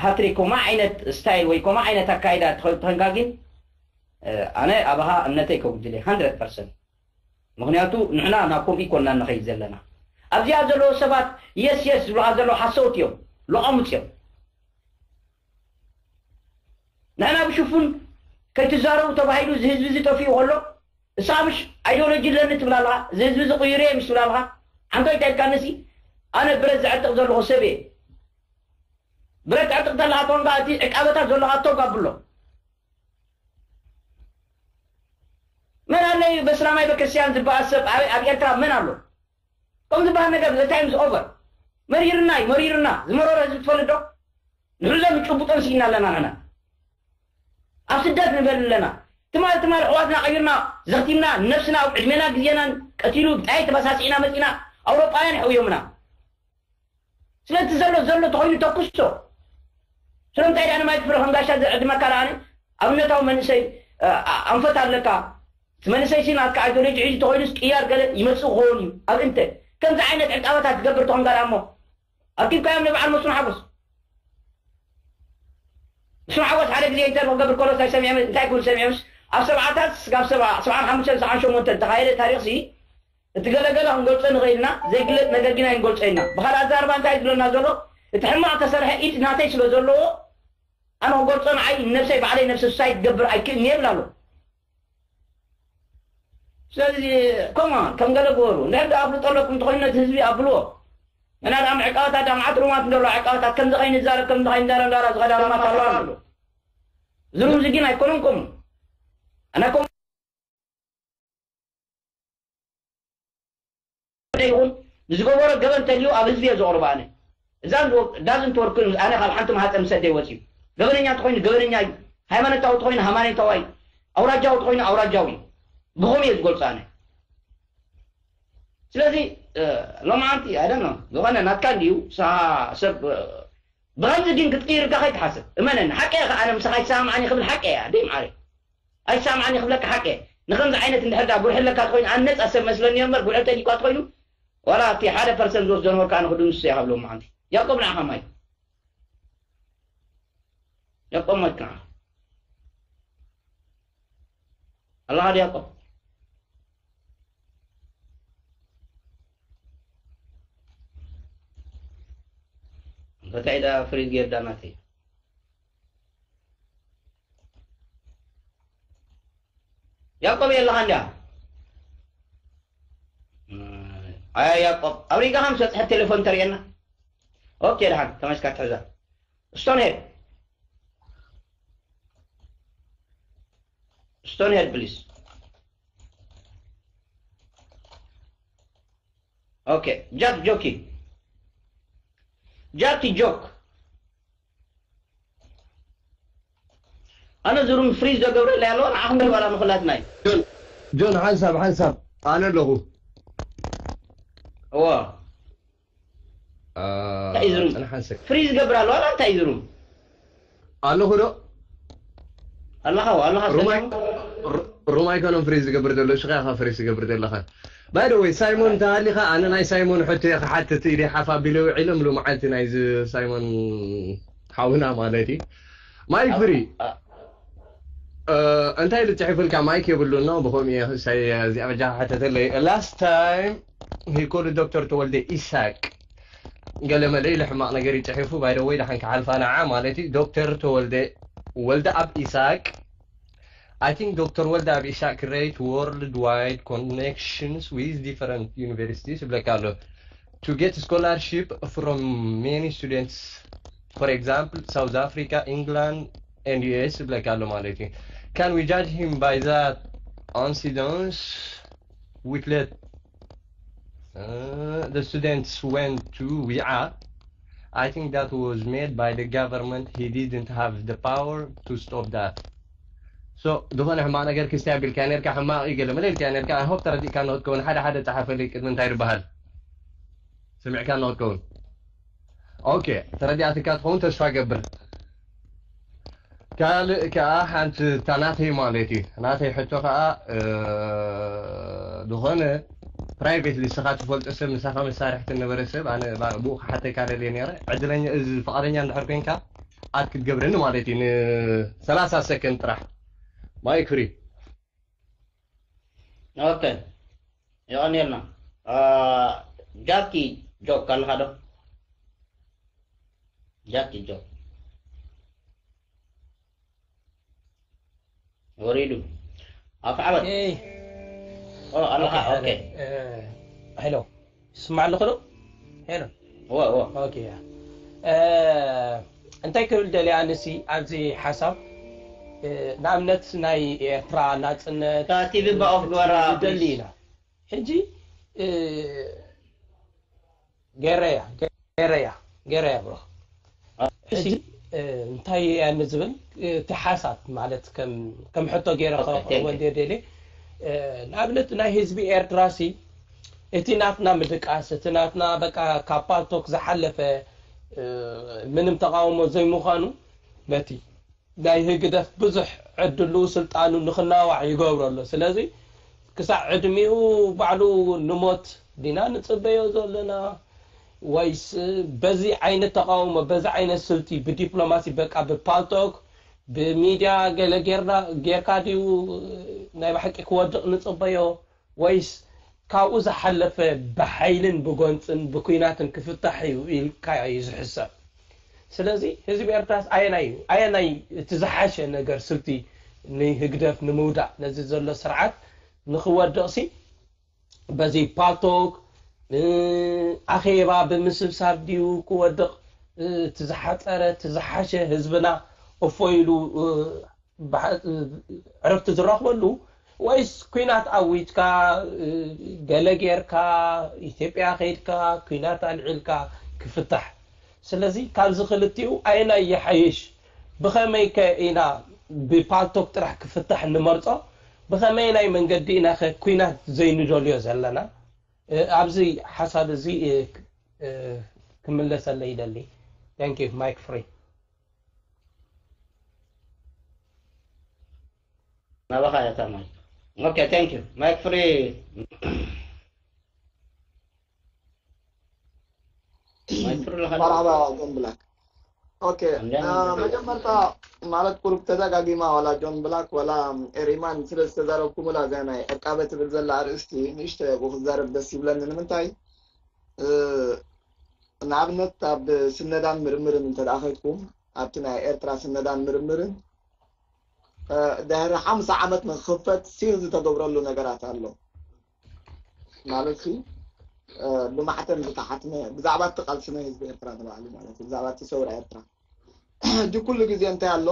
ሃትሪክ ከምኡ ዓይነት ስታይል ወይ ከምኡ ዓይነት ኣካይዳ ተኸ- ተኸንካ ግን ኣነ ኣባኻ እምነተይ ከጉድል እየ hundred percent። ምክንያቱ ንሕና ናብ ከምኡ ይኮንና ንኸይድ ዘለና። ኣብዚኣ ዘለዉ ሰባት የስ የስ ዝብሉኻ ዘለዉ ሓሰውቲ እዮም፣ ለቐሙፅ እዮም። ንሕና ብሽፉን ከይትዛረቡ ተባሂሉ እዚ ህዝቢ እዚ ጠፊኡ ከሎ እሳ ምሽ ኣይዲዮሎጂ ኣለኒ ትብላ ኣለኻ፣ እዚ ህዝቢ እዚ ቅይሩ እየ ምሽ ትብላ ኣለኻ። ሓንቶ እንታይ ኢልካ ንሲ ኣነ ብረት ዘዕጥቕ ዘለኹ ሰብ እየ። ብረት ዕጥቕ ተለካ ተኾንካ እቲ ዕቃበታት ዘሎ ኣቶ ጋብሎ መን ኣሎ እዩ? በስላማይ በክርስቲያን ዝበኣስ ሰብ ኣብ ኣብ ኤርትራ መን ኣሎ? ከም ዝበሃል ነገር the time is over። መሪርና እዩ መሪርና። ዝመረሮ ህዝቢ ትፈልጥ ዶ? ንሕዞም ጭቡጦን ስኢና ኣለና ንሕና። ኣብ ስደት ንበል ኣለና። ትማል ትማል ኣሕዋትና ቀይርና ዘኽቲምና ነብስና ኣብ ዕድሜና ግዜናን ቀቲሉ ብጣይ ተበሳሲዕና መፂና። ኣውሮጳውያን ሕውዮምና። ስለቲ ዘሎ ዘሎ ተኾይኑ ተኩሶ። ስለምንታይ ደኣ ንማይ ክፍረ ከም ጋሻ ዝዕድመካ ደኣ ኣብነታዊ መንእሰይ ኣንፈት ኣለካ። እቲ መንእሰይ ሲ ናትካ ኣይዲዮሎጂ ሒዙ ተኾይኑስ ቅያር ገለ ይመጽእ ክኸውን እዩ። ኣብ እንተ ከምዚ ዓይነት ዕቃበታት ትገብር ተኾንካ ደኣ እሞ ኣኪብካዮም ንበዓል መስፍን ሓጎስ። መስፍን ሓጎስ ሓደ ግዜ ኢንተርቪው ክገብር ከሎ እንታይ ሰሚዐ እንታይ ክብል ሰሚዐ ምስ ኣብ ሰብዓታት ስጋብ ሰብዓ ሰብዓን ሓሙሽተን ሰብዓን ሸሞንተን ዝተኻየደ ታሪኽሲ እቲ ገለገለ ክንገልጾ ንኽእል ኢና፣ ዘይግለጽ ነገር ግን ኣይንገልጾ ኢና። ብኻልእ ኣዛርባ እንታይ ዝብለና ዘሎ? እቲ ሕማቕ ተሰርሐ ኢድ ናተይ ስለ ዘለዎ ኣነ ክገልጾ ንዓይ ነብሰይ ባዕለይ ነብሰ ሱሳይድ ክገብር ኣይክእልን እየ ይብል ኣሎ። ስለዚ ኮማ ከም ገለ ግበሩ። እንድሕር ደኣ ኣፍልጦ ኣለኩም እንተኾይኑ ነቲ ህዝቢ ኣብልዎ። እና ደኣ ዕቃበታት ደኣ መዓት ሩማት እንደሎ ዕቃበታት ከምዚ ከይንዛረብ ከምዚ ከይንዳራ እንዳራ ዝኸዳ ሩማት ኣለዋ ኣሎ። እዚ ሩም እዚ ግን ኣይኮነን ከምኡ። ኣነ ከምኡ ይኹን ንዝገበሮ ገበን ተልዩ ኣብ ህዝቢ እየ ዘቕርቦ ኣነ። እዛ ዳዝንት ወርክ ኣነ ካብ ሓንቲ ማህፀን ምሰደይ ወፅዩ። ገበነኛ እንተኾይኑ ገበነኛ እዩ። ሃይማኖታዊ እንተኾይኑ ሃይማኖታዊ እዩ። ኣውራጃዊ እንተኾይኑ ኣውራጃዊ እዩ። ብኸምኡ እየ ዝገልፆ ኣነ። ስለዚ ሎማዓንቲ ኣደኖ ዝኾነ ናትካ እንዲዩ ንስኻ ሰብ ብኸምዚ ግን ክትቅይርካ ከይትሓስብ እመነኒ። ሓቂ እየ ከኣ ኣነ ምሳኻ ኣይሰማማዕን እየ ክብል ሓቂ እየ ደይ መዓረይ። ኣይሰማማዕን እየ ክብለካ ሓቂ እየ። ንኸምዚ ዓይነት እንድሕር ደኣ ጉርሒ ኣለካ ተኾይኑ ኣነ ነፃ ሰብ መስለኒ እዮ እምበር ጉርሒ ተልዩካ ተኾይኑ ዋላ እቲ ሓደ ፐርሰንት ዝወስዶ ነበርካ ኣነ ክድምስሶ እየ ካብ ሎማዓንቲ። ያቆብ ንዓኻ ማይ ያቆብ ማይ ንዓኻ ኣለኻ ድያቆብ እንታይ ዳ ፍሪዝ ጌርዳ ናተይ ያቆብ የለኻ እንድያ ኣያ ያቆብ ኣብ ሪጋ ከም ሰጥሐ ቴሌፎን ተርእየና ኦኬ ደሓን ተመስካ ትሕዛ ስቶንሄድ ስቶንሄድ ፕሊስ ኦኬ ጃክ ጆኪ ጃኪ ጆክ ኣነ ዝሩም ፍሪዝ ዘገብረለይ ኣለዋ ንዓኹም ይባላ ንኹላትና እዩ ጆን ሓንሳብ ሓንሳብ ኣነ ኣለኹ እዎ እንታይ እዩ ዝሩም ፍሪዝ ዝገብር ኣለዋ እንታይ እዩ ዝሩም ኣለኹ ዶ ኣለኻ ኣለኻ ሩም ኣይኮነን ፍሪዝ ዝገብር ዘሎ ሽኻ ኢኻ ፍሪዝ ዝገብር ዘለኻ ባይ ወይ ሳይሞን እንተሃሊኻ ኣነ ናይ ሳይሞን ሕቶ እየ ክሓትት ኢደ ሓፍ ኣቢለ ውዒለ ምሉ መዓልቲ ናይዚ ሳይሞን ሓውና ማለት እዩ ማይክ ፍሪ እንታይ ኢሉ ፅሒፍልካ ማይክ የብሉን ነው ብኸምኡ እየ እዚኣ በጃ ሓተተለይ last time he called ዶክተር ተወልደ ኢሳቅ ገለ መለ ኢሉ ሕማቕ ነገር ይፅሒፉ ባይ ወይ ደሓን ክሓልፋ ንዓ ማለት እዩ ዶክተር ተወልደ ወልደ ኣብ ኢሳቅ I think ዶክተር ወልደ ኣብ ኢሳቅ create worldwide connections with different universities ይብለካ ኣሎ to get scholarship from many students for example South Africa England and U S ይብለካ ኣሎ ማለት እዩ can we judge him by that incidence with let uh, the students went to Wi'a I think that was made by the government he didn't have the power to stop that so ዝኾነ ሕማቕ ነገር ክስታይ ኣቢልካ ነርካ ሕማቕ እዩ ገለ መለ ኢልካ ነርካ I hope ተረዲእካ ንክትከውን ሓደ ሓደ ጸሓፈልይ ቅድሚ እንታይ ዝበሃል ሰሚዕካ ንክትከውን ኦኬ፣ ተረዲኣትካ ትኸውን ተስፋ ገብር። ካልእ ከኣ ሓንቲ እታ ናተይ ማለት እዩ። ናተይ ሕቶ ከኣ፣ እ፣ ዝኾነ ፕራይቬትሊ ንስኻ ትፈልጦ ሰብ፣ ምሳኻ መሳርሕቲ ነበረ ሰብ፣ ኣነ ባ-፣ ብኡ ክሓተካ ደልየ ነይረ። ዕድለኛ፣ እዚ ፍቓደኛ እንድሕር ኮንካ፣ ኣድ ክትገብረኒ ማለት እዩ፣ ን30 ሰከንድ ጥራሕ። ማይክ ፍሪ። ኦኬ፣ የቐንየልና። አ፣ ጃኪ ጆክ ኣለኻ ዶ? ጃኪ ጆክ ወሪዱ። ኣፍ ዓበት። ኤይ፣ ኦ፣ ኣለኻ። ኦኬ። እ፣ ሄሎ፣ ይስማዕ ኣለኹ ዶ? ሄሎ። ወ፣ ወ። ኦኬ፣ ያ። እ፣ እንታይ ክብል ደልየ ኣነሲ ኣብዚ ሓሳብ፣ እ፣ ንኣብነት ናይ ኤርትራ ናጽነት፣ እታ ቲቪ ባኦፍ ግበራ፣ ደሊ ኢና። ሕጂ፣ እ፣ ገረያ፣ ገረያ፣ ገረያ ብሮ። ሕጂ፣ እ፣ እንታይ እያ ንዝብል፣ እ፣ እቲ ሓሳብ ማለት ከም፣ ከም ሕቶ ገይረ ኦኬ፣ ከቕርቦ thank you። እንድየ ደልየ። እ፣ ንኣብነት ናይ ህዝቢ ኤርትራሲ፣ እቲ ናትና ምድቃስ፣ እቲ ናትና በቃ ካብ ፓልቶክ ዝሓለፈ፣ እ፣ ምንም ተቃውሞ ዘይምዃኑ፣ ነቲ ናይ ህግደፍ ብዙሕ ዕድሉ ስልጣኑ ንኽናዋዕ ይገብሮ ኣሎ። ስለዚ ክሳዕ ዕድሚኡ ባዕሉ ንሞት ዲና ንጽበዮ ዘለና? ወይስ በዚ ዓይነት ተቃውሞ፣ በዚ ዓይነት ስልቲ፣ ብዲፕሎማሲ፣ በቃ ብፓልቶክ፣ ብሚድያ ገለ ጌርና፣ ጌርካ ድዩ ናይ ብሓቂ ክወድቕ ንጽበዮ? ወይስ ካብኡ ዝሓለፈ ብሓይልን ብጎንጽን ብኲናትን ክፍታሕ እዩ ኢልካ እዩ ዝሕሰብ? ስለዚ ህዝቢ ኤርትራስ ኣየናይ እዩ? ኣየናይ እቲ ዝሓሸ ነገር ስልቲ ንህግደፍ ንምውዳቕ፣ ነዚ ዘሎ ስርዓት ንኽወድቕሲ በዚ ፓልቶክ፣ እ፣ ኣኼባ ብምስብሳብ ድዩ ክወድቕ፣ እ፣ እቲ ዝሓጸረ፣ እቲ ዝሓሸ ህዝብና እፎ ኢሉ፣ እ፣ ብሓ-፣ እ፣ ዕረፍቲ ዝረኽበሉ? ወይስ ኲናት ኣዊጅካ፣ እ፣ ገለ ጌርካ፣ ኢትዮጵያ ኸይድካ፣ ኲናት ኣልዒልካ ክፍታሕ? ስለዚ ካብዚ ክልቲኡ ኣየናይ ይሓይሽ? ብኸመይ ከ ኢና ብፓልቶክ ጥራሕ ክፍታሕ ንመርጾ? ብኸመይ ናይ መንገዲ ኢና ኸ ኲናት ዘይንደልዮ ዘለና? እ፣ ኣብዚ ሓሳብ እዚ፣ እ፣ ክ-፣ እ፣ ክምለሰለይ ይደሊ። Thank you, mic free. ናባኻ እያ እታ ማይክ። ኦኬ፣ thank you። ማይክ ፍሪ። ማይክ ፍሪ ኣለኻ? መርሓባ ጆን ብላክ። ኦኬ፣ እንዴት እ፣ ነህ? መጀመርታ ማለት ቁሩብ ተደጋጊማ ዋላ ጆን ብላክ ዋላ ኤሪማን ስለ ዝተዛረብኩምላ እዚኣ ናይ ዕቃበ ትብል ዘላ ኣርእስቲ ንእሽቶ ኣብኡ ክዛረብ ደስ ይብለኒ። ንምንታይ፣ እ፣ ንኣብነት ኣብ ስነዳን ምርምርን እንተ ደኣ ከድኩም ኣብቲ ናይ ኤርትራ ስነዳን ምርምርን፣ እ፣ ድሕሪ ሓምሳ ዓመት ንክኽፈት ሲል ዝተገብረሉ ነገራት ኣሎ። ማለት ሲ፣ እ፣ ብማሕተም ዝተሓትመ ብዛዕባ እቲ ቃልሲ ናይ ህዝቢ ኤርትራ ንባዕሉ ማለት እዩ፣ ብዛዕባ እቲ ሰውራ ኤርትራ። ሕጂ ኩሉ ግዜ እንታይ ኣሎ፣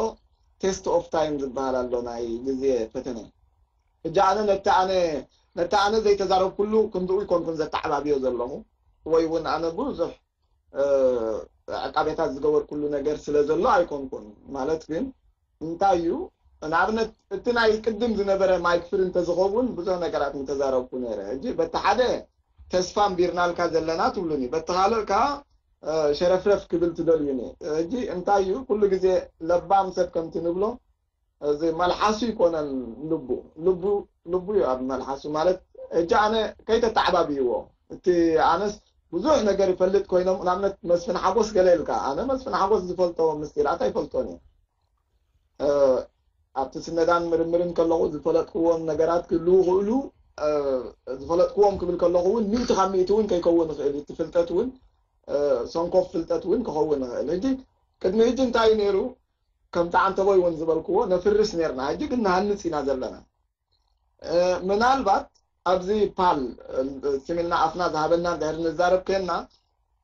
ቴስት ኦፍ ታይም ዝበሃል ኣሎ፣ ናይ ግዜ ፈተነ። ሕጂ ኣነ ነቲ ኣነ ነቲ ኣነ ዘይተዛረብኩሉ ክንድኡ ይኮንኩን ዘተዓባብዮ ዘለኹ፣ ወይ እውን ኣነ ብዙሕ፣ እ፣ ዕቃቤታት ዝገበርኩሉ ነገር ስለ ዘሎ ኣይኮንኩን። ማለት ግን እንታይ እዩ፣ ንኣብነት እቲ ናይ ቅድም ዝነበረ ማይክ ፍሪ እንተዝኸውን ብዙሕ ነገራት ምተዛረብኩ ነይረ። ሕጂ በቲ ሓደ ተስፋ ኣንቢርናልካ ዘለና ትብሉኒ፣ በቲ ካልእ ከኣ፣ እ፣ ሸረፍረፍ ክብል ትደልዩኒ። ሕጂ እንታይ እዩ፣ ኩሉ ግዜ ለባም ሰብ ከምቲ ንብሎ፣ እዚ መልሓሱ ይኮነን ልቡ፣ ልቡ፣ ልቡ እዩ ኣብ መልሓሱ። ማለት ሕጂ ኣነ ከይተተዓባብይዎ፣ እቲ ኣነስ ብዙሕ ነገር ይፈልጥ ኮይኖም፣ ንኣብነት መስፍን ሓጎስ ገለ ኢልካ፣ ኣነ መስፍን ሓጎስ ዝፈልጦ ምስጢራት ኣይፈልጦን እየ። እ፣ ኣብቲ ስነዳን ምርምርን ከለኹ ዝፈለጥክዎም ነገራት ክህልዉ ይኽእሉ፣ እ፣ ዝፈለጥክዎም ክብል ከለኹ እውን ሚእቲ ካብ ሚእቲ እውን ከይከውን ይኽእል እዩ። እቲ ፍልጠት እውን፣ እ፣ ሰንኮፍ ፍልጠት እውን ክኸውን ይኽእል። ሕጂ ቅድሚ ሕጂ እንታይ እዩ ነይሩ? ከምቲ ዓንተቦይ እውን ዝበልክዎ ነፍርስ ነርና፣ ሕጂ ግን ንሃንጽ ኢና ዘለና። እ፣ ምናልባት ኣብዚ ፓል፣ እ፣ ስም ኢልና ኣፍና ዝሃበና እንድሕር ንዛረብ ኮይንና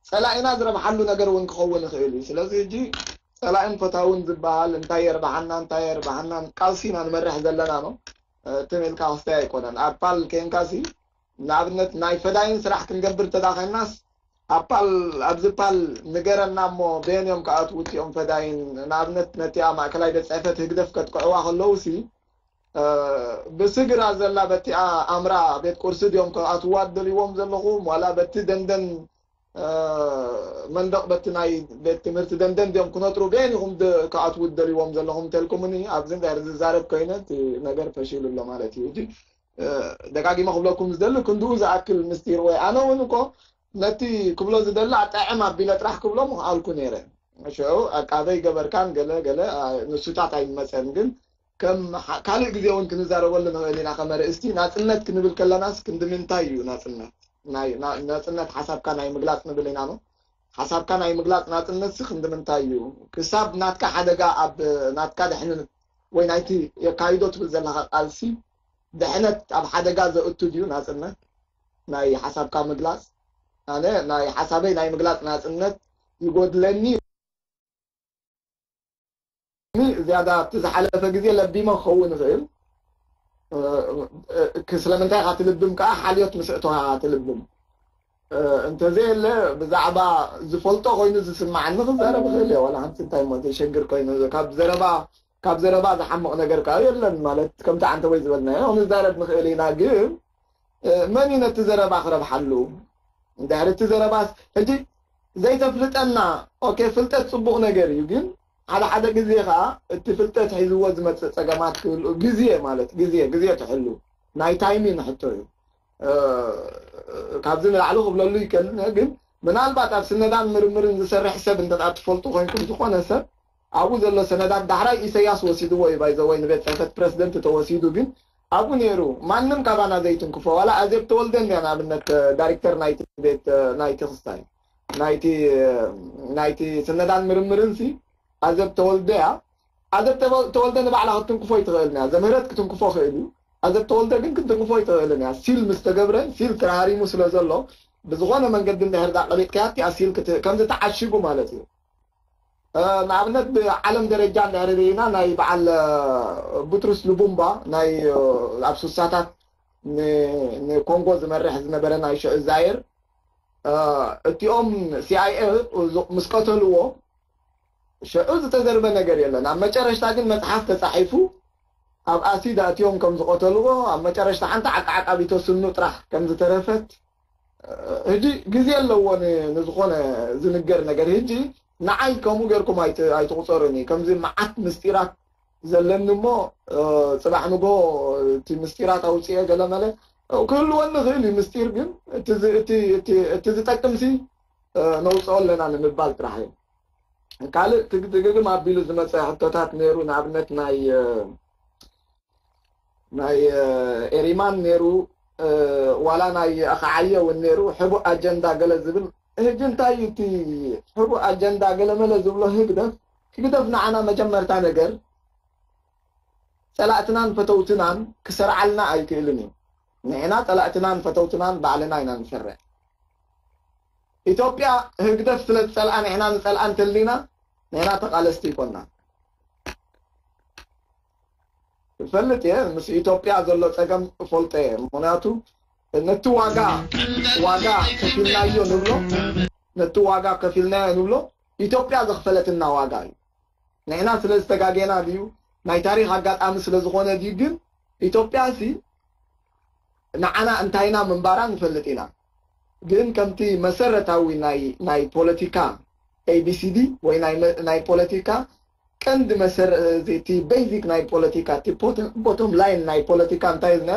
ጸላኢና ዝረብሓሉ ነገር እውን ክኸውን ይኽእል እዩ። ስለዚ ሕጂ ጸላኢን ፈታውን ዝበሃል እንታይ የርብሓና እንታይ የርብሓናን ቃልሲ ኢና ንመርሕ ዘለና ነው። እ፣ ትም ኢልካ ክስተይ ኣይኮነን። ኣብ ፓል ኬንካሲ ንኣብነት ናይ ፈዳይን ስራሕ ክንገብር ተዳኸናስ ኣብ ፓል ኣብዚ ፓል ንገረና እሞ በየን እዮም ክኣትዉ እቲኦም ፈዳይን? ንኣብነት ነቲኣ ማእከላይ ቤት ጽሕፈት ህግደፍ ከጥቅዕዋ ከለውሲ፣ እ፣ ብስግራ ዘላ በቲኣ ኣምራ ቤት ቁርሲ ድዮም ክኣትዋ ደልይዎም ዘለኹም ዋላ በቲ ደንደን መንደቕ በቲ ናይ ቤት ትምህርቲ ደንደን ድዮም ክነጥሩ? በየን ኢኹም ክኣትዉ ደልዎም ዘለኹም እንተልኩምኒ፣ ኣብዚ እንድሕር ዝዛረብ ኮይነ እቲ ነገር ፈሺሉ ኣሎ ማለት እዩ። ሕጂ ደጋጊመ ክብለኩም ዝደሊ ክንድኡ ዝኣክል ምስጢር ወይ ኣነ እውን እኮ ነቲ ክብሎ ዝደሊ ኣጣዕም ኣቢለ ጥራሕ ክብሎ ምኽኣልኩ ነይረ። ሽዑ ኣቃበይ ገበርካን ገለ ገለ ንሱታት ኣይመፀን ግን ከም ካልእ ግዜ እውን ክንዛረበሉ ንኽእል ኢና። ከም ኣርእስቲ ናፅነት ክንብል ከለናስ ክንዲ ምንታይ እዩ ናፅነት? ናይ ናፅነት ሓሳብካ ናይ ምግላፅ ንብል ኢና ኖ። ሓሳብካ ናይ ምግላፅ ናፅነትሲ ክንዲ ምንታይ እዩ? ክሳብ ናትካ ሓደጋ ኣብ ናትካ ድሕነት ወይ ናይቲ የካይዶ ትብል ዘለካ ቃልሲ ድሕነት ኣብ ሓደጋ ዘእቱ ድዩ ናፅነት ናይ ሓሳብካ ምግላፅ? ኣነ ናይ ሓሳበይ ናይ ምግላፅ ናፅነት ይጎድለኒ። ዝያዳ እቲ ዝሓለፈ ግዜ ለቢመ ክኸውን ይኽእል። ስለምንታይ ኢኻ ትልብም ከዓ ሓልዮት ምስ እተወሃ ትልብም። እንተዘየለ ብዛዕባ ዝፈልጦ ኮይኑ ዝስማዓኒ ክዛረብ ይኽእል እየ። ዋላ ሓንቲ እንታይ እሞ ዘሸግር ኮይኑ ካብ ዘረባ ካብ ዘረባ ዝሓምቕ ነገር ከዓ የለን። ማለት ከምቲ ዓንተ ወይ ዝበልናዮ ክንዛረብ ንኽእል ኢና። ግን መን እዩ ነቲ ዘረባ ክረብሓሉ? እንድሕር እቲ ዘረባስ ሕጂ ዘይተፍልጠና፣ ኦኬ፣ ፍልጠት ፅቡቕ ነገር እዩ። ግን ሓደ ሓደ ግዜ ከዓ እቲ ፍልጠት ሒዝዎ ዝመፅእ ፀገማት ክህልኡ ግዜ ማለት ግዜ ግዜ ትሕሉ ናይ ታይሚን ሕቶ እዩ። ካብዚ ንላዕሊ ክብለሉ ይከልን። ግን ምናልባት ኣብ ስነዳን ምርምርን ዝሰርሕ ሰብ እንተ ትፈልጡ ኮይንኩም ዝኾነ ሰብ ኣብኡ ዘሎ ሰነዳት ዳሕራይ ኢሰያስ ወሲድዎ እዩ። ባይዘወይ ንቤት ፅሕፈት ፕረዚደንት ተወሲዱ ግን ኣብኡ ነይሩ። ማንም ካባና ዘይትንክፎ ዋላ ኣዜብ ተወልደ እንድያ ንኣብነት ዳይሬክተር ናይቲ ቤት ናይቲ ክስታይ ናይቲ ናይቲ ስነዳን ምርምርን ሲ ኣዘብ ተወልደ እያ። ኣዘብ ተወልደ ንባዕላ ክትትንክፎ ይትኽእልን እያ። ዘምህረት ክትንክፎ ክእል እዩ። ኣዘብ ተወልደ ግን ክትንክፎ ይትኽእልን እያ። ሲል ምስ ተገብረ ሲል ተራሃሪሙ ስለ ዘሎ ብዝኾነ መንገዲ እንድሕር ዳ ቀሊጥካያ እቲኣ ሲል ከምዚ ተዓሽጉ ማለት እዩ። ንኣብነት ብዓለም ደረጃ እንድሕር ርኢና ናይ በዓል ቡትሩስ ልቡምባ ናይ ኣብ ሱሳታት ንኮንጎ ዝመርሕ ዝነበረ ናይ ሽዑ ዛይር እቲኦም ሲኣይኤ ምስ ቀተልዎ ሽዑ ዝተዘርበ ነገር የለን። ኣብ መጨረሽታ ግን መፅሓፍ ተፃሒፉ ኣብ ኣሲድ ኣእትዮም ከም ዝቐተልዎ ኣብ መጨረሽታ ሓንቲ ዓቃዓቃቢቶ ስኑ ጥራሕ ከም ዝተረፈት ሕጂ ግዜ ኣለዎ ንዝኾነ ዝንገር ነገር። ሕጂ ንዓይ ከምኡ ጌርኩም ኣይትቑፀሩኒ። ከምዚ መዓት ምስጢራት ዘለኒ እሞ ፅባሕ ንጎ እቲ ምስጢራት ኣውፅኤ ገለመለ ክህልወኒ ይኽእል እዩ። ምስጢር ግን እቲ ዝጠቅምሲ ነውፅኦ ኣለና ንምባል ጥራሕ እዩ። ካልእ ትግድግግም ኣቢሉ ዝመፀ ሕቶታት ነይሩ። ንኣብነት ናይ ናይ ኤሪማን ነይሩ ዋላ ናይ ኣኸዓየ እውን ነይሩ። ሕቡእ ኣጀንዳ ገለ ዝብል ህጂ እንታይ እቲ ሕቡእ ኣጀንዳ ገለመለ ዝብሎ ህግደፍ ህግደፍ ንዓና መጀመርታ ነገር ፀላእትናን ፈተውትናን ክሰርዓልና ኣይክእልን እዩ። ንሕና ፀላእትናን ፈተውትናን ባዕልና ኢና ንሰርዕ። ኢትዮጵያ ህግደፍ ስለ ዝፀልኣ ንሕና ንፀልኣ እንተልና ንሕና ተቓለስቲ ይኮና። እፈልጥ እየ ምስ ኢትዮጵያ ዘሎ ፀገም እፈልጦ እየ። ምክንያቱ ነቲ ዋጋ ዋጋ ከፊልናዮ ንብሎ ነቲ ዋጋ ከፊልናዮ ንብሎ ኢትዮጵያ ዘኽፈለትና ዋጋ እዩ። ንሕና ስለ ዝተጋጌና ድዩ ናይ ታሪክ ኣጋጣሚ ስለ ዝኾነ ድዩ ግን ኢትዮጵያ ሲ ንዓና እንታይና ምንባራ ንፈልጥ ኢና። ግን ከምቲ መሰረታዊ ናይ ናይ ፖለቲካ ኤቢሲዲ ወይ ናይ ናይ ፖለቲካ ቀንዲ መሰረቲ ቤዚክ ናይ ፖለቲካ ቦቶም ላይን ናይ ፖለቲካ እንታይ ዝና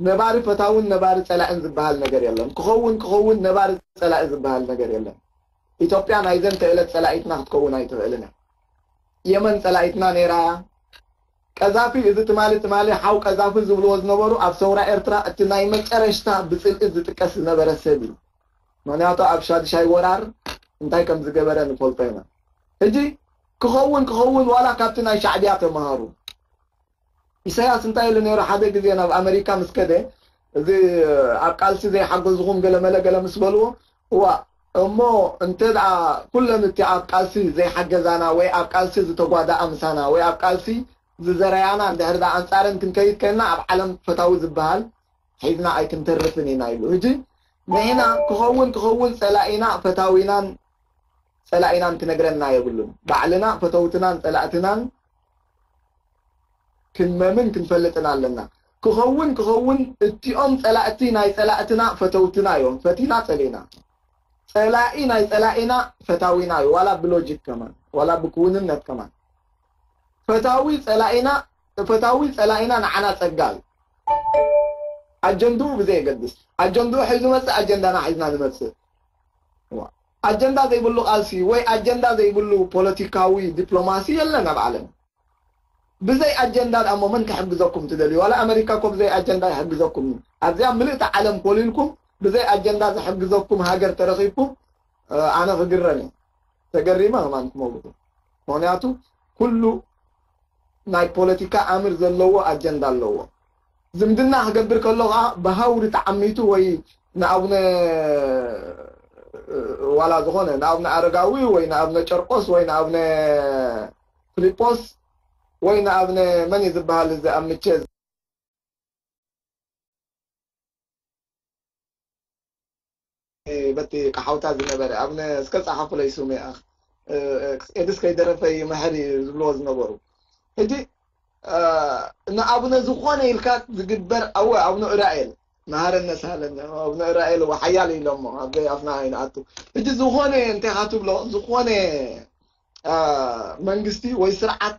ነባሪ ፈታውን ነባሪ ፀላእን ዝበሃል ነገር የለን። ክኸውን ክኸውን ነባሪ ፀላኢ ዝበሃል ነገር የለን። ኢትዮጵያ ናይዘን ተእለት ፀላኢትና ክትከውን ኣይትኽእልን እያ። የመን ፀላኢትና ነይራ። ቀዛፊ እዚ ትማሊ ትማሊ ሓው ቀዛፊ ዝብልዎ ዝነበሩ ኣብ ሰውራ ኤርትራ እቲ ናይ መጨረሽታ ብፅልኢ ዝጥቀስ ዝነበረ ሰብ እዩ። ምክንያቱ ኣብ ሻድሻይ ወራር እንታይ ከም ዝገበረ ንፈልጦ ኢና። ሕጂ ክኸውን ክኸውን ዋላ ካብቲ ናይ ሻዕብያ ተምሃሩ። ኢሳያስ እንታይ ኢሉ ነይሩ ሓደ ግዜ ናብ ኣመሪካ ምስ ከደ እዚ ኣብ ቃልሲ ዘይሓገዝኹም ገለመለ ገለ ምስ በልዎ እዋ እሞ እንተ ደኣ ኩለን እቲ ኣብ ቃልሲ ዘይሓገዛና ወይ ኣብ ቃልሲ ዝተጓዳኣ ምሳና ወይ ኣብ ቃልሲ ዝዘረያና እንድሕር ደኣ ኣንጻረን ክንከይድ ከልና ኣብ ዓለም ፈታዊ ዝበሃል ሒዝና ኣይክንተርፍን ኢና ኢሉ። ሕጂ ንሕና ክኸውን ክኸውን ጸላኢና ፈታዊናን ጸላኢናን ክነግረና የብሉን። ባዕልና ፈተውትናን ጸላእትናን ክንመምን ክንፈልጥን ኣለና። ክኸውን ክኸውን እቲኦም ጸላእቲ ናይ ጸላእትና ፈተውትና እዮም። ፈቲና ጸሊእና። ጸላኢ ናይ ጸላኢና ፈታዊና እዩ፣ ዋላ ብሎጂክ ከማን፣ ዋላ ብክውንነት ከማን። ፈታዊ ጸላኢና፣ ፈታዊ ጸላኢና ንዓና ጸጋ እዩ። ኣጀንድኡ ብዘየገድስ፣ ኣጀንድኡ ሒዙ መጽእ፣ ኣጀንዳና ሒዝና ንመጽእ። ዋ፣ ኣጀንዳ ዘይብሉ ቃልሲ ወይ ኣጀንዳ ዘይብሉ ፖለቲካዊ ዲፕሎማሲ የለን ኣብ ዓለም። ብዘይ ኣጀንዳ ደኣ እሞ መን ክሕግዘኩም ትደልዩ? ዋላ ኣመሪካ እኮ ብዘይ ኣጀንዳ ይሕግዘኩም እዩ። ኣብዚኣ ምልእቲ ዓለም ኮሊልኩም ብዘይ ኣጀንዳ ዝሕግዘኩም ሃገር ተረኺብኩም፣ እ፣ ኣነ ክግረም እየ። ተገሪመ ከማን ክመውት። ምኽንያቱ ኩሉ ናይ ፖለቲካ ኣምር ዘለዎ ኣጀንዳ ኣለዎ። ዝምድና ክገብር ከሎ ኸዓ ብሃውሪ ተዓሚቱ ወይ ንኣቡነ፣ እ፣ ዋላ ዝኾነ ንኣቡነ ኣረጋዊ ወይ ንኣቡነ ጨርቆስ ወይ ንኣቡነ ፊልጶስ ወይ ንኣቡነ መን እዩ ዝበሃል እዚ ኣብ ምቸ በቲ ቀሓውታ ዝነበረ ኣቡነ እስከ ጸሓፉለይ ስሙ ይኣኽ፣ እ፣ እ፣ ኤድስ ከይደረፈ ይምሕር እዩ ዝብልዎ ዝነበሩ። ሕጂ፣ እ፣ ንኣቡነ ዝኾነ ኢልካ ዝግበር ኣወ ኣቡነ ኡራኤል መሃረነ ሳለነ ኣቡነ ኡራኤል እወ ሓያል ኢሎሞ ኣብ ኣፍና ኣይንኣቱ። ሕጂ ዝኾነ እንታይ ኢኻ ትብሎ፣ ዝኾነ፣ እ፣ መንግስቲ ወይ ስርዓት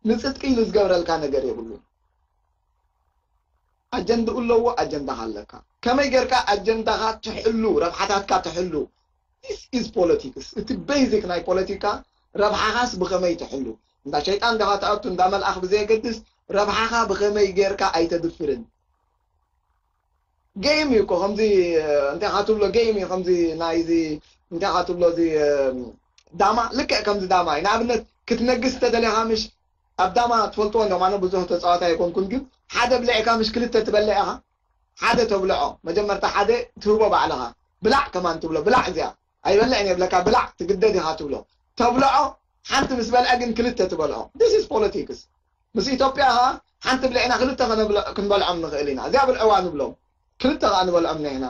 ንጽድቂ ኢሉ ዝገብረልካ ነገር የብሉን። ኣጀንድኡ ኣለዎ፣ ኣጀንዳኻ ኣለካ። ከመይ ጌርካ ኣጀንዳኻ ትሕሉ፣ ረብሓታትካ ትሕሉ? This is politics። እቲ ቤዚክ ናይ ፖለቲካ ረብሓኻስ ብኸመይ ትሕሉ? እንዳ ሸይጣን ዲኻ ትኣቱ፣ እንዳ መልኣኽ ብዘየገድስ ረብሓኻ ብኸመይ ጌርካ ኣይተድፍርን? ጌም እዩ እኮ፣ ከምዚ፣ እ፣ እንታይ ኢኻ ትብሎ፣ ጌም እዩ፣ ከምዚ ናይዚ፣ እንታይ ኢኻ ትብሎ፣ እዚ፣ እ፣ ዳማ፣ ልክዕ ከምዚ ዳማ እዩ። ንኣብነት ክትነግስ እንተደሊኻ ምሽ ኣብ ዳማ ትፈልጥዎ እንዲኹም፣ ኣነ ብዙሕ ተጻዋታይ ኣይኮንኩን፣ ግን ሓደ ብሊዕካ ምሽ ክልተ ትበልዕ ኢኻ። ሓደ ተብልዖ፣ መጀመርታ ሓደ ትህቦ ባዕልኻ፣ ብላዕ ከማን ትብሎ፣ ብላዕ እዚኣ ኣይበልዕን እየ ብለካ፣ ብላዕ ትግደድ ኢኻ ትብሎ። ተብልዖ፣ ሓንቲ ምስ በልዐ ግን ክልተ ትበልዖ። This is politics። ምስ ኢትዮጵያ ኸዓ ሓንቲ ብሊዕና ክልተ ከነብለ-፣ ክንበልዖም ንኽእል ኢና። እዚኣ ብልዕዋ ንብሎም። ክልተ ኸዓ ንበልዖም ኢና።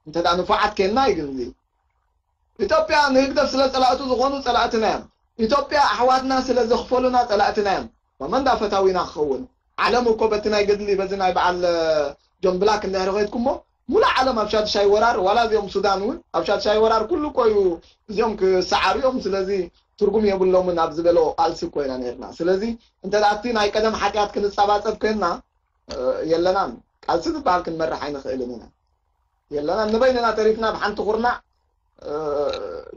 እንተ ደኣ ንፉዓት ኬንና እዩ ግን እዚ። ኢትዮጵያ ንህግደፍ ስለ ጸላእቱ ዝኾኑ ጸላእትና እዮም። ኢትዮጵያ ኣሕዋትና ስለ ዘኽፈሉና ጸላእትና እዮም። መመን ዳ ፈታዊና ክኸውን? ዓለም እኮ በቲ ናይ ገድሊ፣ በዚ ናይ በዓል፣ እ፣ ጆን ብላክ እንድሕሪ ኸይድኩሞ፣ ሙሉእ ዓለም ኣብ ሻድሻይ ወራር፣ ዋላ እዚኦም ሱዳን እውን ኣብ ሻድሻይ ወራር ኩሉ እኮ እዩ፣ እዚኦም ክሰዓሩ እዮም፣ ስለዚ ትርጉም የብሎምን ኣብ ዝበሎ ቃልሲ እኮ ኢና ነይርና። ስለዚ እንተ ደኣ እቲ ናይ ቀደም ሓጢኣት ክንጸባጸብ ኮይንና፣ እ፣ የለናን። ቃልሲ ዝበሃል ክንመርሕ ኣይንኽእልን ኢና። የለናን። ንበይንና ተሪፍና፣ ብሓንቲ ኩርናዕ፣ እ፣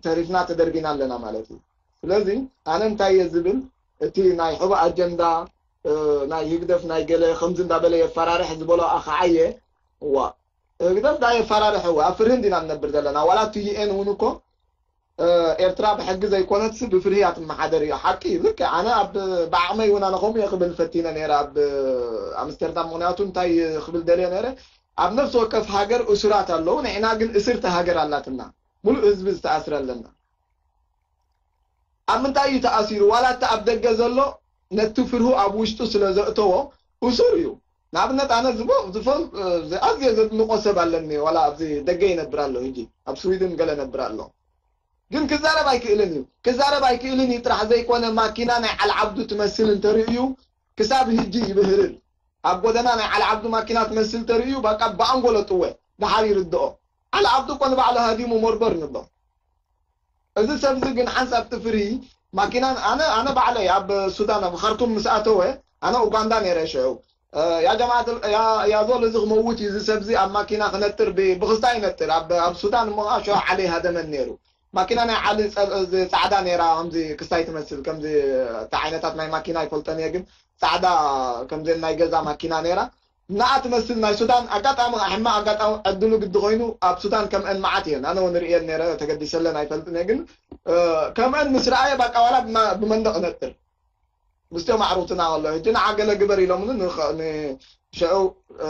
ተሪፍና፣ ተደርቢና ኣለና ማለት እዩ። ስለዚ ኣነ እንታይ እየ ዝብል፣ እቲ ናይ ሕቡእ ኣጀንዳ፣ እ፣ ናይ ህግደፍ ናይ ገለ ከምዚ እንዳበለ የፈራርሕ ዝበሎ ኣኸዓየ፣ እዋ፣ ህግደፍ ዳ የፈራርሕ፣ እዋ፣ ኣብ ፍርሂ እንዲና ንነብር ዘለና። ዋላ እቲ ዩ ኤን እውን እኮ፣ እ፣ ኤርትራ ብሕጊ ዘይኮነትስ ብፍርሂ እያ ትመሓደር እዩ። ሓቂ እዩ። ልክዕ፣ ኣነ ኣብ፣ ብዓቕመይ እውን ኣነ ከምኡ እየ ክብል ፈቲነ ነይረ ኣብ ኣምስተርዳም። ምኽንያቱ እንታይ ክብል ደልየ ነይረ፣ ኣብ ነፍሲ ወከፍ ሃገር እሱራት ኣለዉ፣ ንሕና ግን እስርቲ ሃገር ኣላትና። ሙሉእ ህዝቢ ዝተኣስረ ኣለና። ኣብ ምንታይ እዩ ተኣሲሩ? ዋላ እቲ ኣብ ደገ ዘሎ ነቲ ፍርሁ ኣብ ውሽጡ ስለ ዘእተዎ እሱር እዩ። ንኣብነት ኣነ ዝቦ-፣ ዝፈል-፣ እ፣ ኣዝየ ዘድንቆ ሰብ ኣለኒ፣ ዋላ ኣብዚ ደገ ይነብር ኣሎ፣ ሕጂ ኣብ ስዊድን ገለ ነብር ኣሎ። ግን ክዛረብ ኣይክእልን እዩ። ክዛረብ ኣይክእልን እዩ ጥራሕ ዘይኮነ፣ ማኪና ናይ ዓል ዓብዱ ትመስል እንተርእዩ ክሳብ ሕጂ ይብህርን። ኣብ ጎደና ናይ ዓል ዓብዱ ማኪና ትመስል ተርእዩ፣ በቃ ብኣንጎሎ ጥወ፣ ደሓር ይርድኦ። ዓል ዓብዱ እኮ ንባዕሉ ሃዲሙ ሞርበር ንብሎ። እዚ ሰብዚ ግን ሓንሳብ እቲ ፍርሂ ማኪናን፣ ኣነ፣ ኣነ ባዕለይ ኣብ ሱዳን፣ ኣብ ኻርቱም ምስ ኣተወ፣ ኣነ ኡጋንዳ ነይረ ሽዑ። እ፣ ያ ጀማዓት፣ ያ፣ ያ ዞል እዚ ክመውት እዩ፣ እዚ ሰብዚ ኣብ ማኪና ክነጥር፣ ብ-፣ ብኽስታ ይነጥር፣ ኣብ፣ ኣብ ሱዳን እሞ ኸዓ ሽዑ ዓሊ ሃደመን ነይሩ። ማኪና ናይ ዓሊ ጸ-፣ እዚ ጻዕዳ ነይራ፣ ከምዚ ክስታይ ትመስል፣ ከምዚ፣ እታ ዓይነታት ናይ ማኪና ኣይፈልጠን እየ፣ ግን ጻዕዳ ከምዘን ናይ ገዛ ማኪና ነይራ። ንኣ ትመስል ናይ ሱዳን። ኣጋጣሚ ከዓ ሕማቕ ኣጋጣሚ ዕድሉ ግዲ ኮይኑ ኣብ ሱዳን ከምአን መዓት እየን። ኣነ እውን ርእየን ነይረ፣ ተገዲሰለን ኣይፈልጥን እየ፣ ግን፣ እ፣ ከምአን ምስ ረኣየ ባቃ ዋላ ብማ-፣ ብመንደቕ እነጥር። ምስቲኦም ኣዕሩኽትና ከሎ፣ ሕጂ ንዓ ገለ ግበር ኢሎምኒ፣ ንኸ-፣ ን-፣ ሽዑ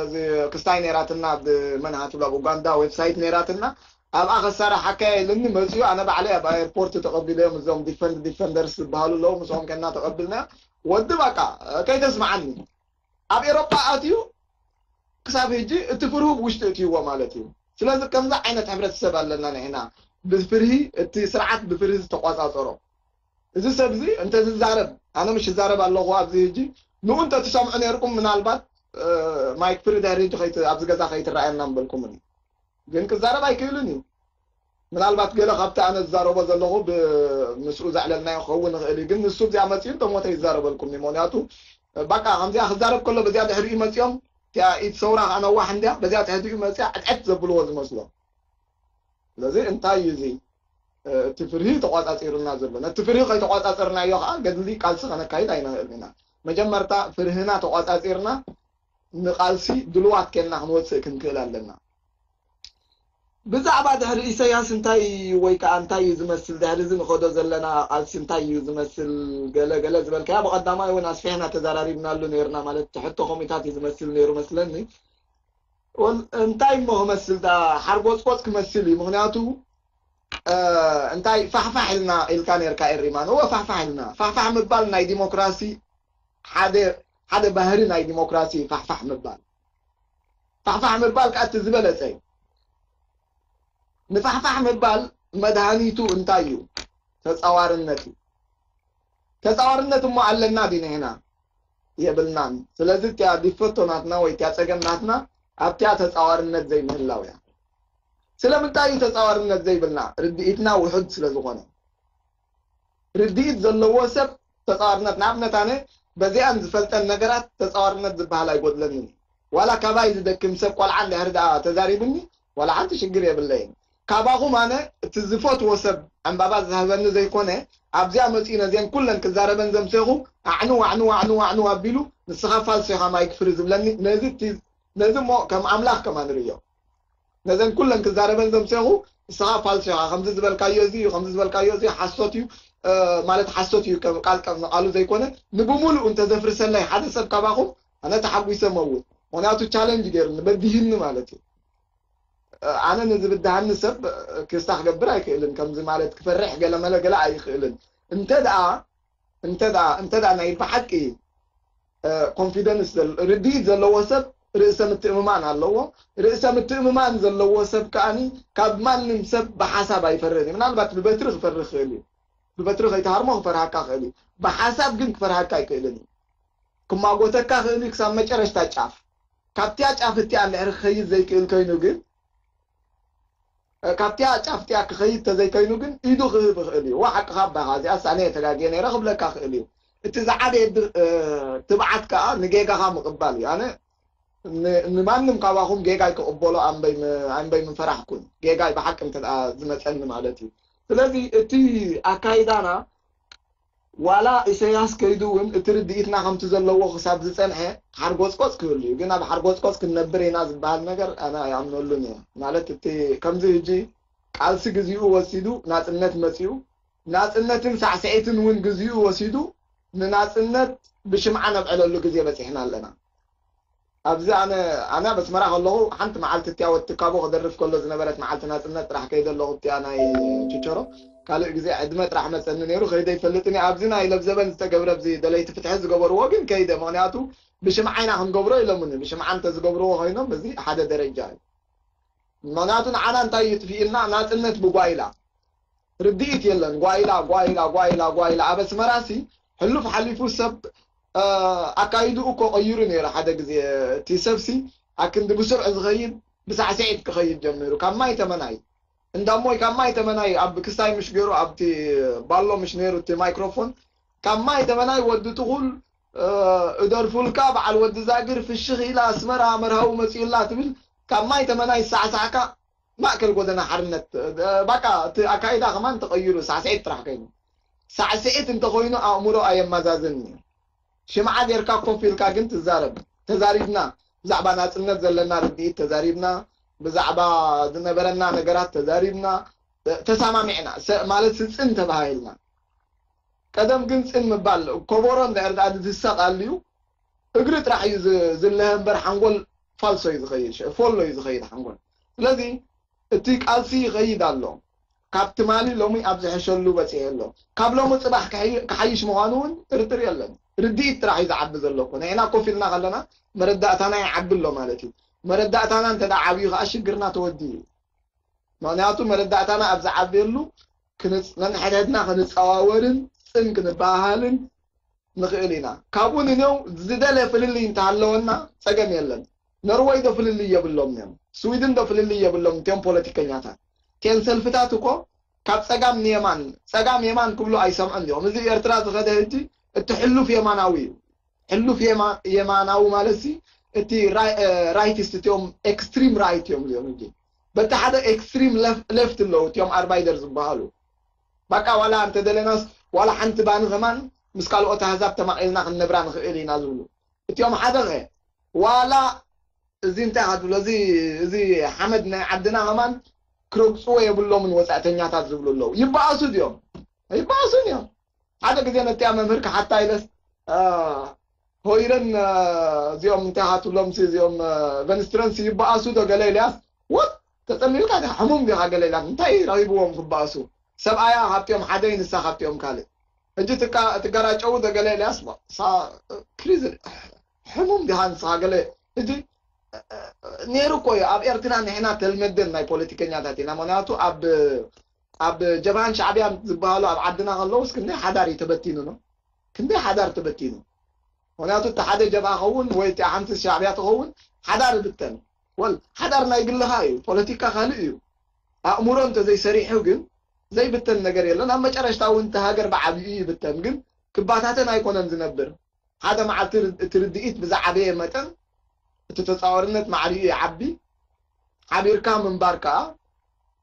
እዚ ክስታይ ነይራትና፣ ኣብ መን እያ ትብሎ፣ ኣብ ኡጋንዳ ዌብሳይት ነይራትና። ኣብኣ ከሳርሓካ ኢሉኒ መፅዩ፣ ኣነ ባዕለይ ኣብ ኣየርፖርት ተቐቢለዮም፣ እዞም ዲፈንድ-፣ ዲፈንደርስ ዝበሃሉ ኣለዉ፣ ምስኦም ከና ተቐብልና። ወዲ በቃ ከይተስምዓኒ። ኣብ ኤሮጳ ኣትዩ ክሳብ ሕጂ እቲ ፍርሁ ብውሽጢ እትይዎ ማለት እዩ። ስለዚ ከምዚ ዓይነት ሕብረተሰብ ኣለና ንሕና፣ ብፍርሂ፣ እቲ ስርዓት ብፍርሂ ዝተቋጻጸሮ። እዚ ሰብ እዚ እንተ ዝዛረብ፣ ኣነ ምሽ ይዛረብ ኣለኹ ኣብዚ ሕጂ፣ ንኡ እንተ ትሰምዑ ነይርኩም ምናልባት፣ እ፣ ማይክ ፍሪ ድሕሪ ሕጂ ከይት-፣ ኣብዚ ገዛ ከይትረኣየና ምበልኩምኒ። ግን ክዛረብ ኣይክእልን እዩ። ምናልባት ገለ ካብቲ ኣነ ዝዛረቦ ዘለኹ ብ-፣ ምስኡ ዘዕለልናዮ ክኸውን ይኽእል እዩ። ግን ንሱ እዚኣ መጺኡ እንተሞተ ይዛረበልኩም እዩ። ምኽንያቱ፣ ባቃ ከምዚኣ ክዛረብ ከሎ በዚኣ ድሕሪኡ መጺኦም፣ እቲኣ ኢድ ሰውራ ከኣ ነዋሕ እንድያ፣ በዚኣ ትሕቲኡ መጺኣ ዕጥዕጥ ዘብልዎ ዝመስሎ። ስለዚ እንታይ እዩ እዚ? እ፣ እቲ ፍርሂ ተቋጻጺሩና ዘሎ። ነቲ ፍርሂ ከይተቋጻጸርናዮ ከኣ ገድሊ ቃልሲ ከነካይድ ኣይንኽእልን ኢና። መጀመርታ ፍርህና ተቋጻጺርና ንቃልሲ ድልዋት ኬንና ክንወጽእ ክንክእል ኣለና። ብዛዕባ ድሕሪ ኢሰያስ እንታይ እዩ ወይ ከኣ እንታይ እዩ ዝመስል፣ ድሕሪ እዚ ንኸዶ ዘለና ቃልሲ እንታይ እዩ ዝመስል፣ ገለ ገለ ዝበልካያ ብቐዳማይ እውን ኣስፊሕና ተዘራሪብናሉ ነይርና፣ ማለት እቲ ሕቶ ከምኡታት እዩ ዝመስል ነይሩ መስለኒ። ወል-፣ እንታይ እሞ ክመስል ደኣ ሓርጎጽጎጽ ክመስል እዩ። ምኽንያቱ፣ እ፣ እንታይ ፋሕፋሕ ኢልና ኢልካ ነይርካ ኤሪማን። እወ ፋሕፋሕ ኢልና። ፋሕፋሕ ምባል ናይ ዲሞክራሲ ሓደ፣ ሓደ ባህሪ ናይ ዲሞክራሲ ፋሕፋሕ ምባል። ፋሕፋሕ ምባል ከኣ እቲ ዝበለጸ እዩ። ንፋሕፋሕ ምባል መድሃኒቱ እንታይ እዩ? ተጻዋርነት እዩ። ተጻዋርነት እሞ ኣለና ድዩ ንሕና? የብልናን። ስለዚ እቲኣ ዲፈቶ ናትና ወይ እቲኣ ጸገም ናትና ኣብቲኣ ተጻዋርነት ዘይምህላው እያ። ስለምንታይ እዩ ተጻዋርነት ዘይብልና? ርድኢትና ውሑድ ስለ ዝኾነ። ርድኢት ዘለዎ ሰብ ተጻዋርነት፣ ንኣብነት ኣነ በዚኣን ዝፈልጠን ነገራት ተጻዋርነት ዝበሃል ኣይጎድለንን እዩ። ዋላ ካባይ ዝደክም ሰብ ቆልዓ እንድሕር ደኣ ተዛሪቡኒ ዋላ ሓንቲ ሽግር የብለይን። ካባኹም ኣነ እቲ ዝፈትዎ ሰብ ዕምባባ ዝሃበኒ ዘይኮነ ኣብዚኣ መጺኡ ነዚአን ኩለን ክዛረበን ዘምሴኹ ኣዕኑ ኣዕኑ ኣዕኑ ኣዕኑ ኣቢሉ ንስኻ ፋልሶ ኢኻ ማይክ ፍሪ ዝብለኒ ነዚ እቲ ነዚ እሞ ከም ኣምላኽ ከማን ርእዮ። ነዘን ኩለን ክዛረበን ዘምሴኹ ንስኻ ፋልሶ ኢኻ፣ ከምዚ ዝበልካዮ እዚ እዩ፣ ከምዚ ዝበልካዮ እዚ ሓሶት እዩ፣ እ፣ ማለት ሓሶት እዩ፣ ከም ቃል ከም ንቃሉ ዘይኮነ ንብሙሉኡ እንተዘፍርሰለይ ሓደ ሰብ ካባኹም ኣነ ተሓጒሰ መውት። ምኽንያቱ ቻለንጅ ገይሩኒ በዲህኒ ማለት እዩ። እ፣ ኣነ ንዝብድሃኒ ሰብ፣ እ፣ ክስታ ክገብር ኣይክእልን። ከምዚ ማለት ክፈርሕ ገለመለ ገለ ኣይኽእልን። እንተ ደኣ እንተ ደኣ እንተ ደኣ ናይ ብሓቂ፣ እ፣ ኮንፊደንስ ዘል-፣ ርድኢት ዘለዎ ሰብ ርእሰ ምትእምማን ኣለዎ። ርእሰ ምትእምማን ዘለዎ ሰብ ከኣኒ ካብ ማንም ሰብ ብሓሳብ ኣይፈርህን እዩ። ምናልባት ብበትሪ ክፈርህ ክእል እዩ። ብበትሪ ከይተሃርሞ ክፈርሃካ ክእል እዩ። ብሓሳብ ግን ክፈርሃካ ኣይክእልን እዩ። ክማጎተካ ክእል እዩ ክሳብ መጨረሽታ ጫፍ። ካብቲያ ጫፍ እቲኣ እንድሕር ክኸይድ ዘይክእል ኮይኑ ግን፣ እ፣ ካብቲያ ጫፍ እቲኣ ክኸይድ ተዘይከይኑ ግን ኢዱ ክህብ ይኽእል እዩ። ዋ ሓቅኻ ኣባኻ፣ እዚኣስ ኣነ እየ ተጋግየ ነይረ ክብለካ ክእል እዩ። እቲ ዝዓበየ ድ-፣ እ፣ ትብዓት ከኣ ንጌጋኻ ምቕባል እዩ። ኣነ ን-፣ ንማንም ካባኹም ጌጋይ ክቕበሎ ኣንበይ ም-፣ ኣንበይ ምፈራሕኩን። ጌጋይ ብሓቂ እንተ ደኣ ዝመጸኒ ማለት እዩ። ስለዚ እቲ ኣካይዳና ዋላ ኢሰያስ ከይዱ እውን እቲ ርድኢትና ከምቲ ዘለዎ ክሳብ ዝጸንሐ ሓርጎጽቆጽ ክህሉ እዩ። ግን ኣብ ሓርጎጽቆጽ ክንነብር ኢና ዝበሃል ነገር ኣነ ኣይኣምነሉን እየ። ማለት እቲ ከምዚ ሕጂ ቃልሲ ግዚኡ ወሲዱ ናጽነት መጺኡ፣ ናጽነትን ሳዕስዒትን እውን ግዚኡ ወሲዱ ንናጽነት ብሽምዓ ነብዕለሉ ግዜ በጺሕና ኣለና። ኣብዚ ኣነ፣ ኣነ ኣብ ኣስመራ ከለኹ ሓንቲ መዓልቲ እቲኣ ወዲ ትካቦ ክደርፍ ከሎ ዝነበረት መዓልቲ ናጽነት ጥራሕ ከይደ ኣለኹ፣ እቲኣ ናይ ችቸሮ። ካልእ ግዜ ዕድመ ጥራሕ መጸኒ ነይሩ፣ ከይደ ይፈልጥን እየ። ኣብዚ ናይ ለብዘበን ዝተገብረ፣ ኣብዚ ደለይቲ ፍትሒ ዝገበርዎ ግን ከይደ፣ ምኽንያቱ ብሽምዓ ኢና ክንገብሮ ኢሎምኒ። ብሽምዓ እንተ ዝገብርዎ ኮይኖም፣ እዚ ሓደ ደረጃ እዩ። ምኽንያቱ ንዓና እንታይ ይጥፊእልና? ናጽነት ብጓይላ። ርድኢት የለን። ጓይላ፣ ጓይላ፣ ጓይላ፣ ጓይላ። ኣብ ኣስመራሲ ሕሉፍ ሓሊፉ ሰብ፣ እ፣ ኣካይድኡ እኮ ቀይሩ ነይሩ። ሓደ ግዜ እቲ ሰብሲ ኣክንዲ ብስርዑ ዝኸይድ ብሳዕስዒት ክኸይድ ጀሚሩ። ካብ ማይ ተመናይ፣ እንዳሞይ ካብ ማይ ተመናይ ኣብ ክሳይ ምሽ ገይሩ ኣብቲ ባሎ ምሽ ነይሩ እቲ ማይክሮፎን፣ ካብ ማይ ተመናይ ወዲ ትኹል፣ እ፣ እደርፉልካ፣ በዓል ወዲ ዛግር ፍሽኽ ኢላ ኣስመራ መርሃዊ መጺኡላ ትብል፣ ካብ ማይ ተመናይ ዝሳዕሳዕካ ማእከል ጎደና ሓርነት፣ እ፣ ባቃ እቲ ኣካይዳ ከማን ተቐይሩ ሳዕስዒት ጥራሕ ከይኑ። ሳዕስዒት እንተኾይኑ ኣእምሮ ኣየመዛዝን እዩ። ሽምዓ ጌርካ ኮፍ ኢልካ ግን ትዛረብ። ተዛሪብና፣ ብዛዕባ ናጽነት ዘለና ርድኢት ተዛሪብና፣ ብዛዕባ ዝነበረና ነገራት ተዛሪብና፣ እ፣ ተሰማሚዕና፣ ሰ-፣ ማለት ስጽን ተባሃሂልና። ቀደም ግን ጽን ምባል፣ ኮቦሮ እንድሕር ደኣ ዝድሰቕ ኣልዩ፣ እግሪ ጥራሕ እዩ ዝ-፣ ዝለሀ እምበር ሓንጎል ፋልሶ እዩ ዝኸይድ፣ ሸ-፣ ፎሎ እዩ ዝኸይድ ሓንጎል። ስለዚ እቲ ቃልሲ ይኸይድ ኣሎ። ካብ ትማሊ ሎሚ ኣብ ዝሕሸሉ በጺሑ ኣሎ። ካብ ሎሚ ጽባሕ ክሕይ-፣ ክሓይሽ ምዃኑ እውን ጥርጥር የለን። ርድኢት ጥራሕ እዩ ዝዓቢ ዘሎ እኮ። ንሕና ኮፍ ኢልና ከለና መረዳእታና ይዓቢ ኣሎ ማለት እዩ። መረዳእታና እንተ ደኣ ዓብዩ ከኣ ሽግርና ተወዲኡ እዩ። ምኽንያቱ መረዳእታና ኣብ ዝዓብየሉ ክንጽ-፣ ነንሕድሕድና ክንጸዋወርን ጽን ክንበሃሃልን ንኽእል ኢና። ካብኡ ንኔው ዝደለ ፍልልይ እንተሃለወና ጸገም የለን። ኖርወይ ዶ ፍልልይ የብሎም እዮም? ስዊድን ዶ ፍልልይ የብሎም እቲኦም ፖለቲከኛታት? እቲ እተን ሰልፍታት እኮ ካብ ጸጋም ንየማን፣ ጸጋም የማን ክብሉ ኣይሰምዑን እዮም። እዚ ኤርትራ ዝኸደ ሕጂ እቲ ሕሉፍ የማናዊ እዩ። ሕሉፍ የማ-፣ የማናዊ ማለት ሲ እቲ ራይ-፣ እ፣ ራይቲስት እቲኦም ኤክስትሪም ራይት እዮም እዚኦም ሕጂ። በቲ ሓደ ኤክስትሪም ለፍ-፣ ሌፍት ኣለዉ እቲኦም ኣርባይደር ዝበሃሉ። በቃ ዋላ እንተ ደለናስ ዋላ ሓንቲ ባኒ ከማን ምስ ካልኦት ኣህዛብ ተማቒልና ክንነብራ ንኽእል ኢና ዝብሉ። እቲኦም ሓደ ኸ ዋላ እዚ እንታይ ኢኻ ትብሎ? እዚ፣ እዚ ሓመድ ናይ ዓድና ከማን ክረግጽዎ የብሎምን ወጻእተኛታት ዝብሉ ኣለዉ። ይበኣሱ ድዮም? ኣይበኣሱን እዮም። ሓደ ግዜ ነቲኣ መምህር ክሓታ ኢለስ፣ አ፣ ሆይረን፣ አ፣ እዚኦም እንታይ ኢኻ ትብሎም ሲ፣ እዚኦም፣ አ፣ ቨንስትረንስ ይበኣሱ ዶ ገለ ኢልያስ? ወት ተጸሊልካ ዲኻ? ሕሙም ዲኻ ገለ ኢላት? እንታይ ረኺብዎም ክበኣሱ? ሰብኣያ ካብቲኦም ሓደ እዩ፣ ንሳ ካብቲኦም ካልእ። ሕጂ ትቃ-፣ ትገራጨው ዶ ገለ ኢልያስ? ሳ-፣ ክሪዝ ሕሙም ዲኻ ንስኻ ገለ? ሕጂ ነይሩ እኮ እዩ። ኣብ ኤርትራ ንሕና ተልመደን ናይ ፖለቲከኛታት ኢና። ምኽንያቱ ኣብ፣ ኣብ ጀብሃን ሻዕብያን ዝበሃሉ ኣብ ዓድና ከለውስ ክንደይ ሓዳር እዩ ተበቲኑ ነው? ክንደይ ሓዳር ተበቲኑ? ምኽንያቱ እቲ ሓደ ጀብሃ ኸውን ወይ እቲ ሓንቲ ሻዕብያ ትኸውን ሓዳር ይብተን። ወል ሓዳር ናይ ግልኻ እዩ፣ ፖለቲካ ካልእ እዩ። ኣእምሮ እንተዘይሰሪሑ ግን ዘይብተን ነገር የለን። ኣብ መጨረሽታ እውን እቲ ሃገር ብዓቢኡ ይብተን፣ ግን ክባታተን ኣይኮነን ዝነብር። ሓደ መዓልቲ ር-፣ እቲ ርድኢት ብዝዓበየ መጠን እቲ ተጻዋርነት ማዕሪኡ ይዓቢ። ሓቢርካ ምንባር ከኣ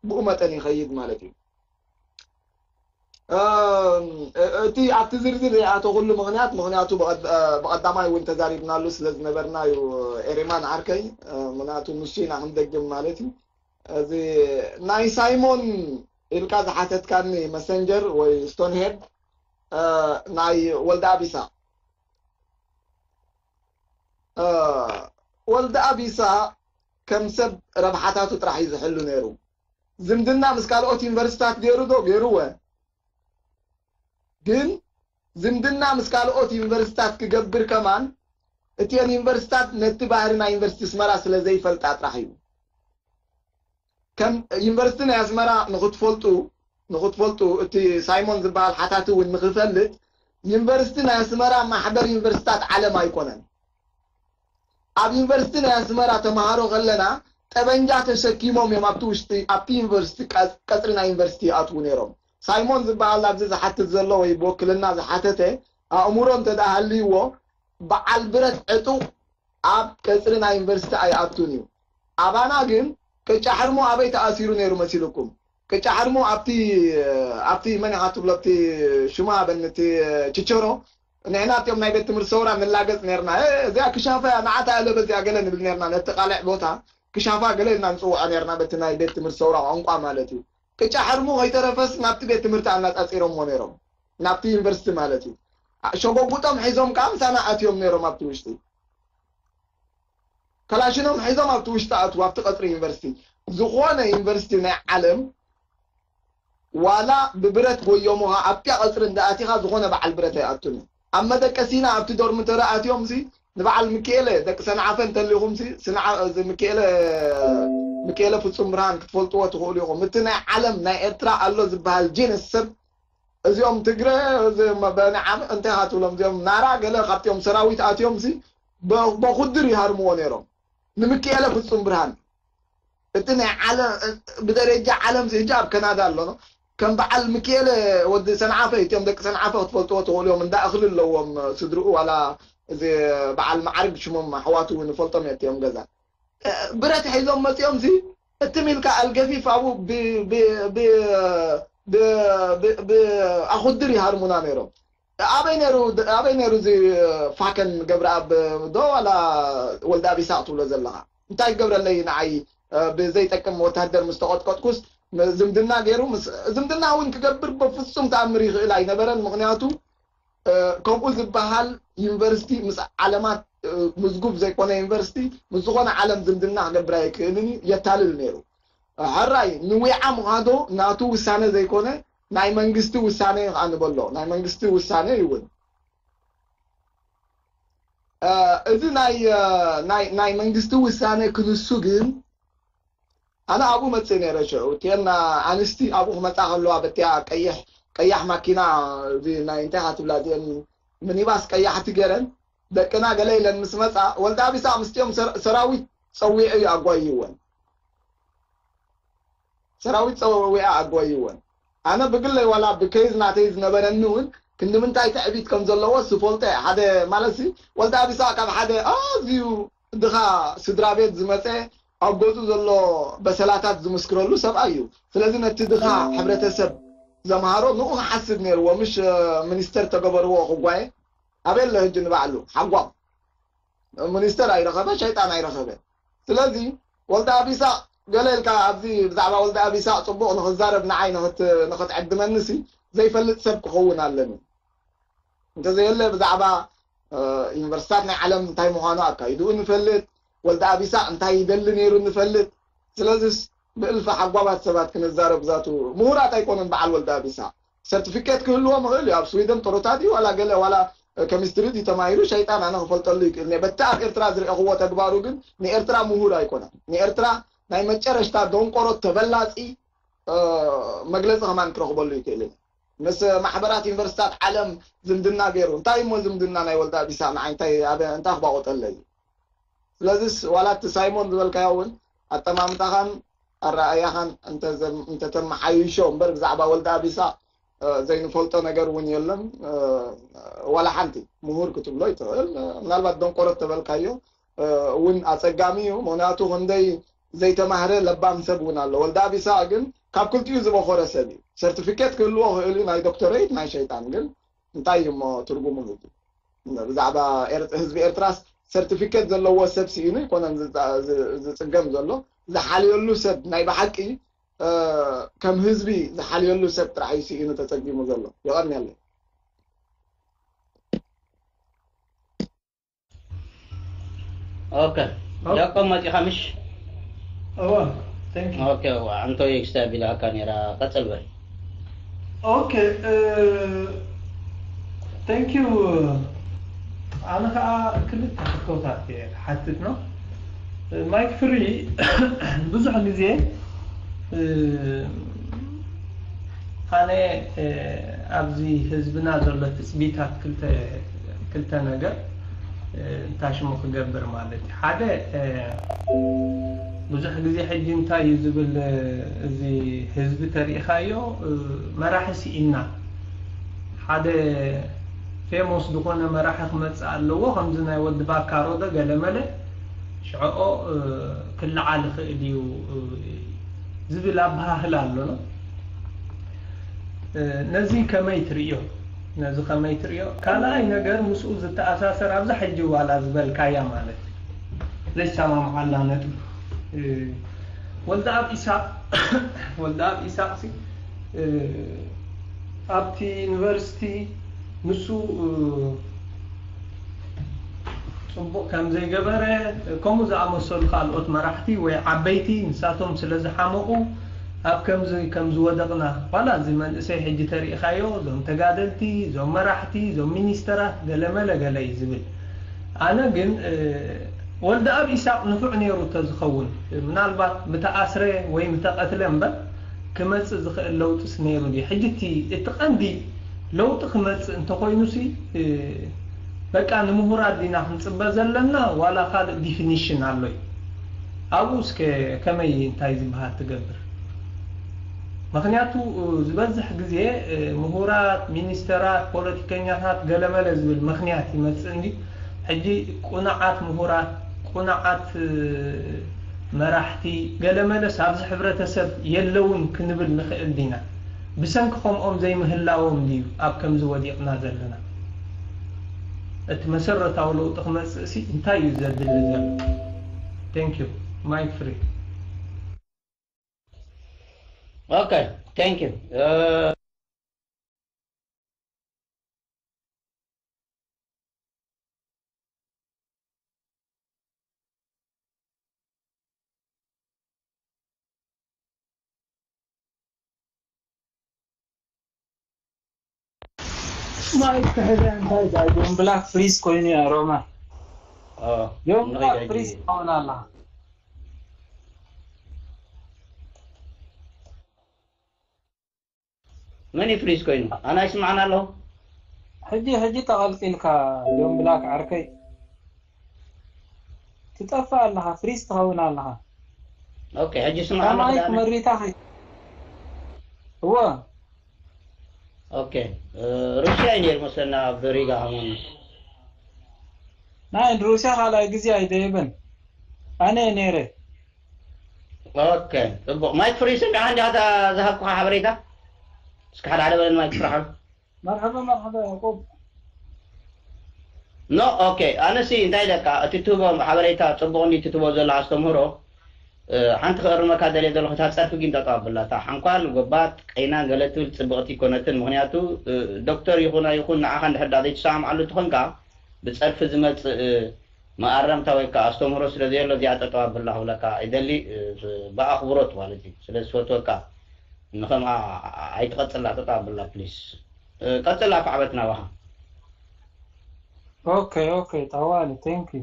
ብኡ መጠን ይኸይድ ማለት እዩ። እም፣ እ-፣ እቲ ኣብቲ ዝርዝር ዘይኣተኹሉ ምኽንያት፣ ምኽንያቱ ብቐድ-፣ እ፣ ብቐዳማይ እውን ተዛሪብናሉ ስለ ዝነበርና እዩ፣ ኤሬማን ዓርከይ፣ እ፣ ምኽንያቱ ንሱ ኢና ክንደግም ማለት እዩ። እዚ ናይ ሳይሞን ኢልካ ዝሓተትካኒ መሰንጀር ወይ ስቶንሄድ፣ እ፣ ናይ ወልደኣብ ኢሳቕ፣ እ፣ ወልደኣብ ኢሳቕ ከም ሰብ ረብሓታቱ ጥራሕ እዩ ዝሕሉ ነይሩ። ዝምድና ምስ ካልኦት ዩኒቨርሲታት ገይሩ ዶ? ገይሩወ። ግን ዝምድና ምስ ካልኦት ዩኒቨርሲታት ክገብር ከማን እቲአን ዩኒቨርሲታት ነቲ ባህሪ ናይ ዩኒቨርሲቲ ኣስመራ ስለ ዘይፈልጣ ጥራሕ እዩ። ከም ዩኒቨርሲቲ ናይ ኣስመራ ንኽትፈልጡ፣ ንኽትፈልጡ እቲ ሳይሞን ዝበሃል ሓታቲ እውን ንኽፈልጥ፣ ዩኒቨርሲቲ ናይ ኣስመራ ማሕበር ዩኒቨርሲታት ዓለም ኣይኮነን። ኣብ ዩኒቨርሲቲ ናይ ኣስመራ ተምሃሮ ከለና ጠበንጃ ተሸኪሞም እዮም ኣብቲ ውሽጢ፣ ኣብቲ ዩኒቨርሲቲ ቀ-፣ ቀጽሪ ናይ ዩኒቨርሲቲ ይኣትዉ ነይሮም። ሳይሞን ዝበሃል ኣብዚ ዝሓትት ዘሎ ወይ ብወክልና ዝሓተተ ኣእምሮ እንተ ደኣ ሃልይዎ በዓል ብረት ዕጡቕ ኣብ ቀጽሪ ናይ ዩኒቨርሲቲ ኣይኣቱን እዩ። ኣባና ግን ቅጫ ሕርሞ ኣበይ ተኣሲሩ ነይሩ መሲልኩም? ቅጫ ሕርሞ ኣብቲ፣ ኣብቲ መን ኢኻ ትብሎ፣ ኣብቲ ሽማ በን እቲ ችቸሮ፣ ንሕና እቲኦም ናይ ቤት ትምህርቲ ሰውራ ንላገጽ ነርና። "እ፣ እዚኣ ክሻፋ እያ፣ ንዓታ እለ በዚኣ" ገለ ንብል ነርና። ነቲ ቃልዕ ቦታ ክሻፋ ገለ ኢልና ንጽውዖ ነርና፣ በቲ ናይ ቤት ትምህርቲ ሰውራ ቋንቋ ማለት እዩ። ቅጫ ሕርሙ ከይተረፈስ ናብቲ ቤት ትምህርቲ ኣናጻጺሮምዎ ነይሮም፣ ናብቲ ዩኒቨርሲቲ ማለት እዩ። አ-፣ ሸጎጉጦም ሒዞም ከኣ ምሳና ኣትዮም ነይሮም ኣብቲ ውሽጢ። ከላሽኖም ሒዞም ኣብቲ ውሽጢ ኣትዉ፣ ኣብቲ ቀጽሪ ዩኒቨርሲቲ። ዝኾነ ዩኒቨርሲቲ ናይ ዓለም ዋላ ብብረት ጎዮምኻ ኣብቲያ ቀጽሪ እንዳ ኣቲኻ ዝኾነ በዓል ብረት ኣይኣቱን እዩ። ኣብ መደቀሲና ኣብቲ ዶርሚተሪ ኣትዮም ሲ ንበዓል ሚካኤለ ደቂ ሰንዓፈ እንተሊኹም ሲ ስንዓ-፣ እዚ ሚካኤለ፣ ሚካኤለ ፍጹም ብርሃን ክትፈልጥዎ ትኽእሉ ኢኹም። እቲ ናይ ዓለም ናይ ኤርትራ ኣሎ ዝበሃል ጂንስ ሰብ እዚኦም ትግረ፣ እዚ መ-፣ በንዓም እንታይ ኢኻ ትብሎም? እዚኦም ናራ ገለ ካብቲኦም ሰራዊት ኣትዮም ሲ በ-፣ በኹድር ይሃርምዎ ነይሮም። ንምክኤለ ፍጹም ብርሃን። እቲ ናይ ዓለ-፣ ብደረጃ ዓለም ሲ ሕጂ ኣብ ከናዳ ኣሎ። ከም በዓል ምክኤለ ወዲ ሰንዓፈ፣ እቲኦም ደቂ ሰንዓፈ ክትፈልጥዎ ትኽእሉ እዮም። እንዳ እኽሊ ኣለዎም ስድርኡ፣ ዋላ እዚ በዓል መዓርግ ሽሞም ኣሕዋቱ እውን እፈልጦም እየ፣ እቲኦም ገዛ። እ፣ ብረት ሒዞም መጺኦም ሲ እትም ኢልካ ኣልገፊፍ ኣብኡ ብ-፣ ብ-፣ ብ-፣ ብ-፣ ብ-፣ ብ-፣ ኣኹድር ይሃርሙና ነይሮም። ኣበይ ነይሩ፣ ኣበይ ነይሩ እዚ ፋከን ገብረኣብ ዶ ዋላ ወልደኣብ ይስሓቅ ትብሎ ዘለኻ? እንታይ ክገብረለይ ንዓይ፣ እ፣ ብዘይጠቅም ወታደር ምስ ተቐጥቀጥኩስ ም-፣ ዝምድና ገይሩ ምስ፣ ዝምድና እውን ክገብር በፍጹም ተኣምር ይኽእል ኣይነበረን። ምኽንያቱ፣ እ፣ ከምኡ ዝበሃል ዩኒቨርሲቲ ምስ ዓለማት፣ እ፣ ምዝጉብ ዘይኮነ ዩኒቨርሲቲ ምስ ዝኾነ ዓለም ዝምድና ክገብር ኣይክእልን እዩ፣ የታልል ነይሩ። ሕራይ ንዊዓ ምዃዶ ናቱ ውሳነ ዘይኮነ ናይ መንግስቲ ውሳነ እዩ ከዓ ንበሎ። ናይ መንግስቲ ውሳነ ይውን። እ፣ እዚ ናይ፣ እ፣ ናይ፣ ናይ መንግስቲ ውሳነ ክንሱ ግን ኣነ ኣብኡ መጽእ ነይረ ሽዑ። እተን ኣንስቲ ኣብኡ ክመጻ ከለዋ በቲያ ቀይሕ፣ ቀያሕ ማኪና፣ እዚ ናይ እንታይ ኢኻ ትብላ እዚአን ሚኒባስ ቀያሕቲ ገይረን ደቅና ገለ ኢለን ምስ መጻ፣ ወልደኣብ ይስሓቅ ምስቲኦም ሰር-፣ ሰራዊት ጸዊዑ እዩ ኣጓይይወን። ሰራዊት ጸዊዓ ኣጓይወን። ኣነ ብግለይ ዋላ ብኬዝ ናተይ ዝነበረኒ እውን ክንዲ ምንታይ ትዕቢት ከም ዘለዎ ዝፈልጦ እየ። ሓደ ማለት ሲ ወልደ ኣቢሳ ካብ ሓደ ኣዝዩ ድኻ ስድራ ቤት ዝመጸ ኣብ ገጹ ዘሎ በሰላታት ዝምስክረሉ ሰብኣይ እዩ። ስለዚ ነቲ ድኻ ሕብረተሰብ ዘምሃሮ ንኡ ክሓስብ ነይርዎ፣ ምሽ ሚኒስተር ተገበርዎ ክጓየ ኣበይ ኣሎ ሕጂ ንባዕሉ ሓጓም ሚኒስተር ኣይረኸበ፣ ሸይጣን ኣይረኸበ። ስለዚ ወልደ ኣቢሳ ገለ ኢልካ ኣብዚ ብዛዕባ ወልደ ኣቢሳ ጽቡቕ ንኽዛረብ ንዓይ ንኽት- ንኽትዕድመኒ ሲ ዘይፈልጥ ሰብ ክኸውን ኣለኒ። እንተዘየለ ብዛዕባ ዩኒቨርሲታት ናይ ዓለም እንታይ ምዃኑ ኣካይድኡ ንፈልጥ፣ ወልደ ኣቢሳ እንታይ ይደሊ ነይሩ ንፈልጥ። ስለዚስ ብእልፊ ሓጓባት ሰባት ክንዛረብ ዛቱ ምሁራት ኣይኮኑን። በዓል ወልደ ኣቢሳ ሰርቲፊኬት ክህልዎ ምኽእል እዩ። ኣብ ስዊደን ጥሩታት እዩ ዋላ ገለ ዋላ ኬሚስትሪ ድዩ ተማሂሩ ሸይጣን ኣነ ክፈልጠሉ ይክእል እየ። በቲ ኣብ ኤርትራ ዝረእኽዎ ተግባሩ ግን ንኤርትራ ምሁር ኣይኮነን። ንኤርትራ ናይ መጨረሽታ ደንቆሮ ተበላጺ መግለጺ ከማን ክረኽበሉ ይክእል እየ። ምስ ማሕበራት ዩኒቨርሲታት ዓለም ዝምድና ገይሩ እንታይ እሞ ዝምድና ናይ ወልደ ኣቢሳ ንዓይ እንታይ ኣበ እንታይ ክባቆጠለይ። ስለዚስ ዋላ እቲ ሳይሞን ዝበልካዮ እውን ኣጠማምታኻን ኣረኣያኻን እንተተመሓይሾ እምበር ብዛዕባ ወልደ ኣቢሳ ዘይንፈልጦ ነገር እውን የለን። ዋላ ሓንቲ ምሁር ክትብሎ ይትኽእል። ምናልባት ደንቆሮ ተበልካዮ እውን ኣፀጋሚ እዩ። ምክንያቱ ክንደይ ዘይተማህረ ለባም ሰብ እውን ኣሎ። ወልደ ኣቢሳ ግን ካብ ክልቲኡ ዝበኾረ ሰብ እዩ። ሰርቲፊኬት ክህልዎ ክእል እዩ ናይ ዶክተሬት ናይ ሸይጣን ግን እንታይ እዩ እሞ ትርጉሙ ህዝቢ ብዛዕባ ህዝቢ ኤርትራስ ሰርቲፊኬት ዘለዎ ሰብ ስኢኑ ይኮነን ዝፅገም ዘሎ። ዝሓልየሉ ሰብ ናይ ብሓቂ ከም ህዝቢ ዝሓልየሉ ሰብ ጥራሕ እዩ ስኢኑ ተፀጊሙ ዘሎ። የቐንየለይ። ኦኬ ጃኮብ መፂኻ ምሽ? እወ thank you ኦኬ እዋ ኣንቶይ ክስታይ ቢላካ ነይራ ቀፅል በል። ኦኬ thank you ኣነ ከዓ ክልተ ሕቶታት እየ ክሓትት ነው። ማይክ ፍሪ ብዙሕ ግዜ ኣነ ኣብዚ ህዝብና ዘሎ ትፅቢታት ክልተ ክልተ ነገር እንታይ ሽሙ ክገብር ማለት እዩ ሓደ ብዙሕ ግዜ ሕጂ እንታይ እዩ ዝብል እዚ ህዝቢ ተሪኢኻዮ መራሒ ስኢና ሓደ ፌሞስ ዝኾነ መራሒ ክመፅእ ኣለዎ ከምዚ ናይ ወዲ ባካሮ ዶ ገለመለ ሽዕኦ ክልዓል ይኽእል እዩ ዝብል ኣበሃህላ ኣሎ ነው ነዚ ከመይ ትርእዮ ነዚ ከመይ ትርእዮ ካልኣይ ነገር ምስኡ ዝተኣሳሰር ኣብዛ ሕጂ ዋላ ዝበልካያ ማለት ዘይሰማምዓላ ነጥቢ ወልደ ኣብ ኢሳቅ ወልደ ኣብ ኢሳቅ ሲ ኣብቲ ዩኒቨርሲቲ ንሱ ፅቡቕ ከም ዘይገበረ ከምኡ ዝኣመሰሉ ካልኦት መራሕቲ ወይ ዓበይቲ ንሳቶም ስለ ዝሓመቑ ኣብ ከምዚ ከም ዝወደቕና ዋላ እዚ መንእሰይ ሕጂ ተሪእኻዮ እዞም ተጋደልቲ እዞም መራሕቲ እዞም ሚኒስተራት ገለመለ ገለ እዩ ዝብል ኣነ ግን ወልደ ኣብ ኢሳቅ ንፉዕ ነይሩ ተዝኸውን ምናልባት ምተኣስረ ወይ ምተቐትለ እምበር ክመፅእ ዝኽእል ለውጥስ ነይሩ ድዩ? ሕጂ እቲ እቲ ቀንዲ ለውጢ ክመፅእ እንተኾይኑሲ በቃ ንምሁራት ዲና ክንፅበ ዘለና ዋላ ካልእ ዲፊኒሽን ኣሎ እዩ? ኣብኡ እስከ ከመይ እንታይ ዝበሃል ትገብር? ምኽንያቱ ዝበዝሕ ግዜ ምሁራት፣ ሚኒስተራት፣ ፖለቲከኛታት ገለመለ ዝብል ምኽንያት ይመፅእ እንዲ ሕጂ ቁኑዓት ምሁራት፣ ቁኑዓት መራሕቲ ገለመለስ ኣብዚ ሕብረተሰብ የለውን ክንብል ንኽእል ዲና? ብሰንኪ ከምኦም ዘይምህላዎም ድዩ ኣብ ከምዚ ወዲቕና ዘለና? እቲ መሰረታዊ ለውጢ ክመፅእ ሲ እንታይ እዩ ዘድሊ ዘሎ? Thank you. Mic free. Okay, thank you. Uh, ማይክ ክሕዘ እንታይ ዳ ጆን ብላክ ፍሪዝ ኮይኑ ያ ሮማ ጆን ብላክ ፍሪዝ ትኸውን ኣላ መን እዩ ፍሪዝ ኮይኑ ኣና ይስማዕና ኣለኹ ሕጂ ሕጂ ተቐልቂልካ ጆን ብላክ ዓርከይ ትጠፍእ ኣለኻ ፍሪዝ ትኸውን ኣለኻ ኦኬ ሕጂ ስማዕና ማይክ መሪታ እወ። ኦኬ። ሩስያ እዩ ነይሩ መስለና ኣብ ሪጋ ከማን። ናይ ሩስያ ካልኣይ ግዜ ኣይደየበን። ኣነ ነይረ። ኦኬ። ጽቡቕ። ማይክ ፍሪ፣ ሰሚዕካ እንዲኻ እታ ዝሃብኩኻ ሓበሬታ? እስኪ ሓደ ሓደ በለን ማይክ ፍሪ ሓው። መርሐባ መርሐባ ያዕቆብ። ኖ፣ ኦኬ። ኣነሲ እንታይ ኢለካ፣ እቲ ትህቦ ሓበሬታ ጽቡቕ እንዲ ትህቦ ዘሎ ኣስተምህሮ፣ እ፣ ሓንቲ ክእርመካ ደልየ ዘለኹ፣ እታ ጸርፊ ግን ጠጠው ኣብላ። እታ ሓንኳል፣ ጎባጥ፣ ቀይናን ገለ ትብል ጽብቕቲ ኣይኮነትን። ምኽንያቱ፣ እ፣ ዶክተር ይኹን ኣይኹን ንዓኻ እንድሕር ደኣ ዘይትሰማምዓሉ እንተኾንካ፣ ብጸርፊ ዝመጽእ፣ እ፣ መኣረምታ ወይ ከኣ ኣስተምህሮ ስለ ዘየሎ፣ እዚኣ ጠጠው ኣብላ ክብለካ ይደሊ፣ እ፣ ብኣኽብሮት ማለት እዩ። ስለ ዝፈትወካ፣ ንኸምኣ ኣይትቐጽላ፣ ጠጠው ኣብላ ፕሊስ። እ፣ ቀጽላ፣ ኣቶ ዓበትና ባኻ። ኦኬ ኦኬ፣ ጠዋሊ፣ ቴንክ ዩ።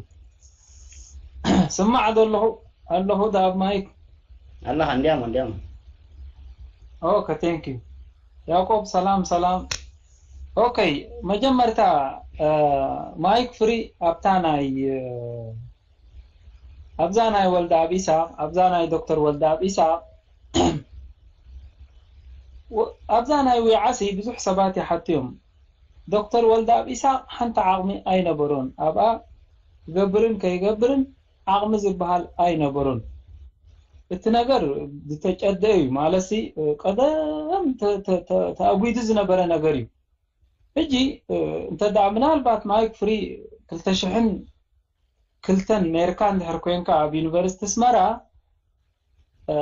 ስማዕ ዘለኹ ኣለኹ ዳ ኣብ ማይክ። ኣለኻ፣ እንዲያሞ፣ እንዲያሞ። ኦኬ፣ ቴንክ ዩ። ያዕቆብ፣ ሰላም ሰላም። ኦኬ፣ መጀመርታ፣ እ፣ ማይክ ፍሪ ኣብታ ናይ፣ እ፣ ኣብዛ ናይ ወልደኣብ ኢሳቕ፣ ኣብዛ ናይ ዶክተር ወልደኣብ ኢሳቕ፣ ወ-፣ ኣብዛ ናይ ዊዓሲ ብዙሕ ሰባት ይሓቱ እዮም። ዶክተር ወልደኣብ ኢሳቕ ሓንቲ ዓቕሚ ኣይነበሮን። ኣብኣ ክገብርን ከይገብርን ዓቕሚ ዝበሃል ኣይነበሮን። እቲ ነገር ዝተጨደ እዩ። ማለትሲ፣ ቀደም ተ-፣ ተ-፣ ተ-፣ ተኣጒዱ ዝነበረ ነገር እዩ። ሕጂ፣ እ፣ እንተ ደኣ ምናልባት ማይክ ፍሪ ክልተ ሽሕን ክልተን ነይርካ እንድሕር ኮይንካ ኣብ ዩኒቨርሲቲ ኣስመራ፣ እ፣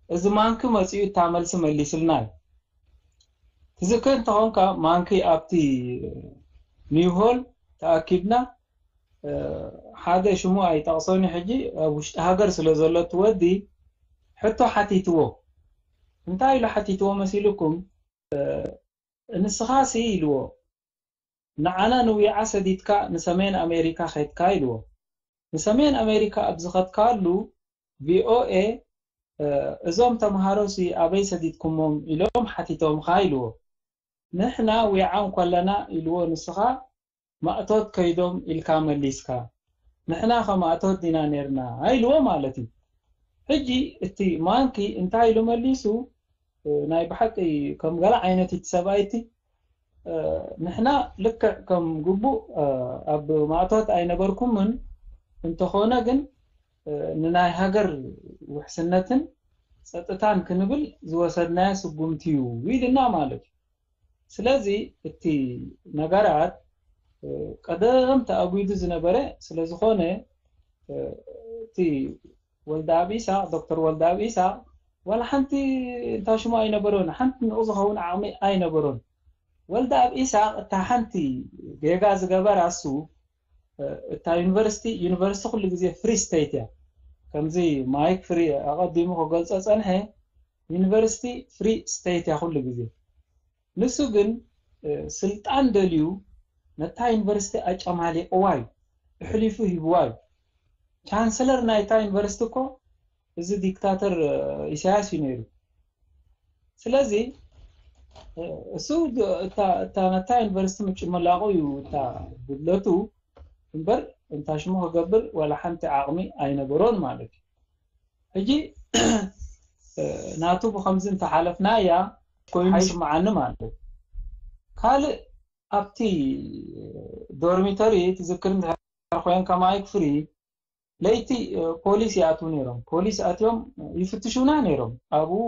እዚ ማንኪ መጺኡ እታ መልሲ መሊስልና እዩ። ትዝክር እንተኾንካ፣ ማንኪ ኣብቲ ኒው ሆል ተኣኪብና፣ እ፣ ሓደ ሽሙ ኣይጠቕሶን እዩ ሕጂ፣ ኣብ ውሽጢ ሃገር ስለ ዘሎ እቲ ወዲ፣ ሕቶ ሓቲትዎ። እንታይ ኢሉ ሓቲትዎ መሲልኩም? እ፣ ንስኻሲ ኢልዎ፣ ንዓና ንዊዓ ሰዲድካ ንሰሜን ኣሜሪካ ኸድካ ኢልዎ። ንሰሜን ኣሜሪካ ኣብ ዝኸድካሉ፣ ቪኦኤ፣ እ፣ እዞም ተምሃሮሲ ኣበይ ሰዲድኩሞም ኢሎም ሓቲቶምኻ ኢልዎ። ንሕና ዊዓ እንኮለና ኢልዎ፣ ንስኻ ማእቶት ከይዶም ኢልካ መሊስካ። ንሕና ከ ማእቶት ዲና ኔርና ኢልዎ ማለት እዩ። ሕጂ እቲ ማንኪ እንታይ ኢሉ መሊሱ? እ፣ ናይ ብሓቂ ከም ገለ ዓይነት እቲ ሰብኣይ እቲ፣ እ፣ ንሕና ልክዕ ከም ግቡእ፣ እ፣ ኣብ ማእቶት ኣይነበርኩምን፣ እንተኾነ ግን፣ እ፣ ንናይ ሃገር ውሕስነትን ጸጥታን ክንብል ዝወሰድናዮ ስጉምቲ እዩ ኢልና ማለት እዩ። ስለዚ እቲ ነገራት፣ እ፣ ቀደም ተኣጒዱ ዝነበረ ስለ ዝኾነ፣ እ፣ እቲ ወልደኣብ ኢሳቕ፣ ዶክተር ወልደኣብ ኢሳቕ ዋላ ሓንቲ እንታ ሽሙ ኣይነበሮን፣ ሓንቲ ንኡ ዝኸውን ዓቕሚ ኣይነበሮን። ወልደኣብ ኢሳቕ እታ ሓንቲ ጌጋ ዝገበራ እሱ፣ እ፣ እታ ዩኒቨርሲቲ፣ ዩኒቨርሲቲ ኩሉ ግዜ ፍሪ ስቴት እያ። ከምዚ ማይክ ፍሪ ኣቐዲሙ ክገልጾ ጸንሐ፣ ዩኒቨርሲቲ ፍሪ ስቴት እያ ኩሉ ግዜ። ንሱ ግን፣ እ፣ ስልጣን ደልዩ ነታ ዩኒቨርሲቲ ኣጨማሊቕዋ እዩ፣ ኣሕሊፉ ሂብዋ እዩ። ቻንስለር ናይታ ዩኒቨርሲቲ እኮ እዚ ዲክታተር፣ እ፣ ኢሳያስ እዩ ነይሩ። ስለዚ፣ እ፣ እሱ ድ-፣ እታ፣ እታ ነታ ዩኒቨርሲቲ ምጭምላቑ እዩ እታ ጉድለቱ እምበር፣ እንታ ሽሙ ክገብር ዋላ ሓንቲ ዓቕሚ ኣይነበሮን ማለት እዩ። ሕጂ፣ እ፣ ናቱ ብኸምዚ እንተሓለፍናያ ኮይኑ ሓይ- ይስምዓኒ ማለት እዩ። ካልእ ኣብቲ ዶርሚተሪ ትዝክር እንድሕር ኮይንካ ማይክ ፍሪ፣ ለይቲ፣ እ፣ ፖሊስ ይኣትዉ ነይሮም። ፖሊስ ኣትዮም ይፍትሹና ነይሮም። ኣብኡ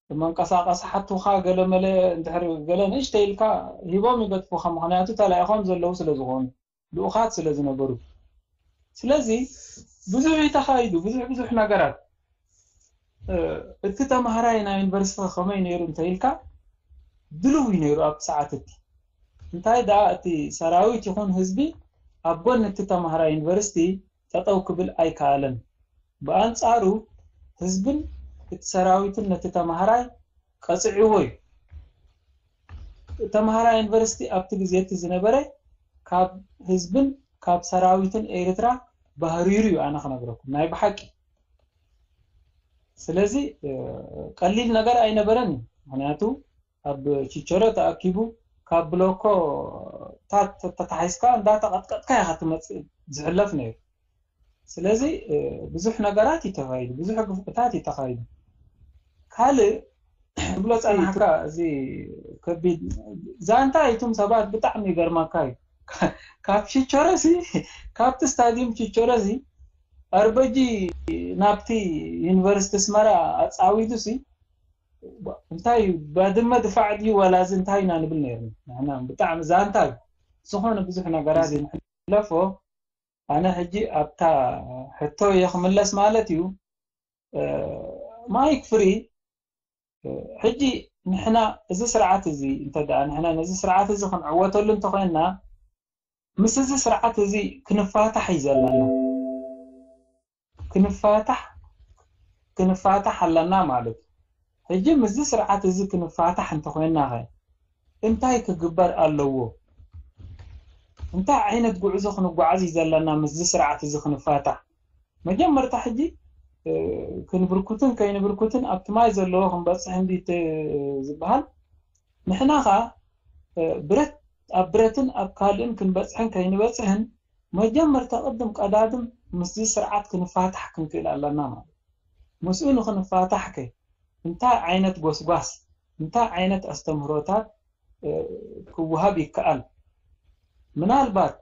መንቀሳቐሲ ሓቱኻ ገለ መለ እንድሕር ገለ ንእሽተይ ኢልካ ሂቦም ይገጥፉኻ። ምኽንያቱ ተላኢኾም ዘለዉ ስለ ዝኾኑ፣ ልኡኻት ስለ ዝነበሩ። ስለዚ ብዙሕ እዩ ተኻይዱ፣ ብዙሕ ብዙሕ ነገራት። እ፣ እቲ ተምሃራይ ናይ ዩኒቨርሲቲ ከመይ ነይሩ እንተ ኢልካ፣ ድልው እዩ ነይሩ ኣብቲ ሰዓት እቲ። እንታይ ደኣ እቲ ሰራዊት ይኹን ህዝቢ ኣብ ጎኒ እቲ ተምሃራይ ዩኒቨርሲቲ ጠጠው ክብል ኣይከኣለን። ብኣንጻሩ ህዝብን እቲ ሰራዊትን ነቲ ተምሃራይ ቀጽዕዎ እዩ። ተምሃራይ ዩኒቨርሲቲ ኣብቲ ግዜ እቲ ዝነበረ ካብ ህዝብን ካብ ሰራዊትን ኤርትራ ባህሪሩ እዩ፣ ኣነ ክነግረኩም ናይ ብሓቂ። ስለዚ፣ እ፣ ቀሊል ነገር ኣይነበረን እዩ። ምኽንያቱ ኣብ ቺቸሮ ተኣኪቡ ካብ ብሎኮ ታት ተታሒዝካ እንዳተቐጥቀጥካ ኢኻ ትመጽእ ዝሕለፍ ነይሩ። ስለዚ፣ እ፣ ብዙሕ ነገራት እዩ ተኻይዱ፣ ብዙሕ ግፍዕታት እዩ ተኻይዱ። ካልእ ትብሎ ጸናሕካ። እዚ ከቢድ ዛንታ እዩም። ሰባት ብጣዕሚ ይገርመካ እዩ። ካብ ችቸረሲ ካብቲ ስታዲየም ችቸረሲ ኣርበጂ ናብቲ ዩኒቨርሲቲ ኣስመራ ኣጻዊዱሲ እንታይ እዩ፣ ባድመ ድፋዕ ድዩ ዋላ እዚ እንታይ ኢና ንብል ነይርና ንሕና። ብጣዕሚ ዛንታ እዩ። ዝኾነ ብዙሕ ነገራት እዩ ንሕለፎ። ኣነ ሕጂ ኣብታ ሕቶ እየ ክምለስ ማለት እዩ። ማይክ ፍሪ፣ ሕጂ ንሕና እዚ ስርዓት እዚ እንተ ደኣ ንሕና ነዚ ስርዓት እዚ ክንዕወተሉ እንተኾይንና፣ ምስ እዚ ስርዓት እዚ ክንፋታሕ እዩ ዘለና። ክንፋታሕ ክንፋታሕ ኣለና ማለት እዩ። ሕጂ ምስዚ ስርዓት እዚ ክንፋታሕ እንተኾይንና ኸ እንታይ ክግበር ኣለዎ? እንታይ ዓይነት ጉዕዞ ክንጓዓዝ እዩ ዘለና ምስዚ ስርዓት እዚ ክንፋታሕ? መጀመርታ ሕጂ ክንብርኩትን ከይንብርኩትን ኣብቲ ማይ ዘለዎ ክንበፅሕ እንዲ ዝበሃል፣ ንሕና ኸዓ ብረት ኣብ ብረትን ኣብ ካልእን ክንበፅሕን ከይንበፅሕን መጀመርታ ቅድም ቀዳድም ምስዚ ስርዓት ክንፋታሕ ክንክእል ኣለና ማለት። ምስኡ ንክንፋታሕ ከ እንታይ ዓይነት ጎስጓስ እንታይ ዓይነት ኣስተምህሮታት ክወሃብ ይከኣል? ምናልባት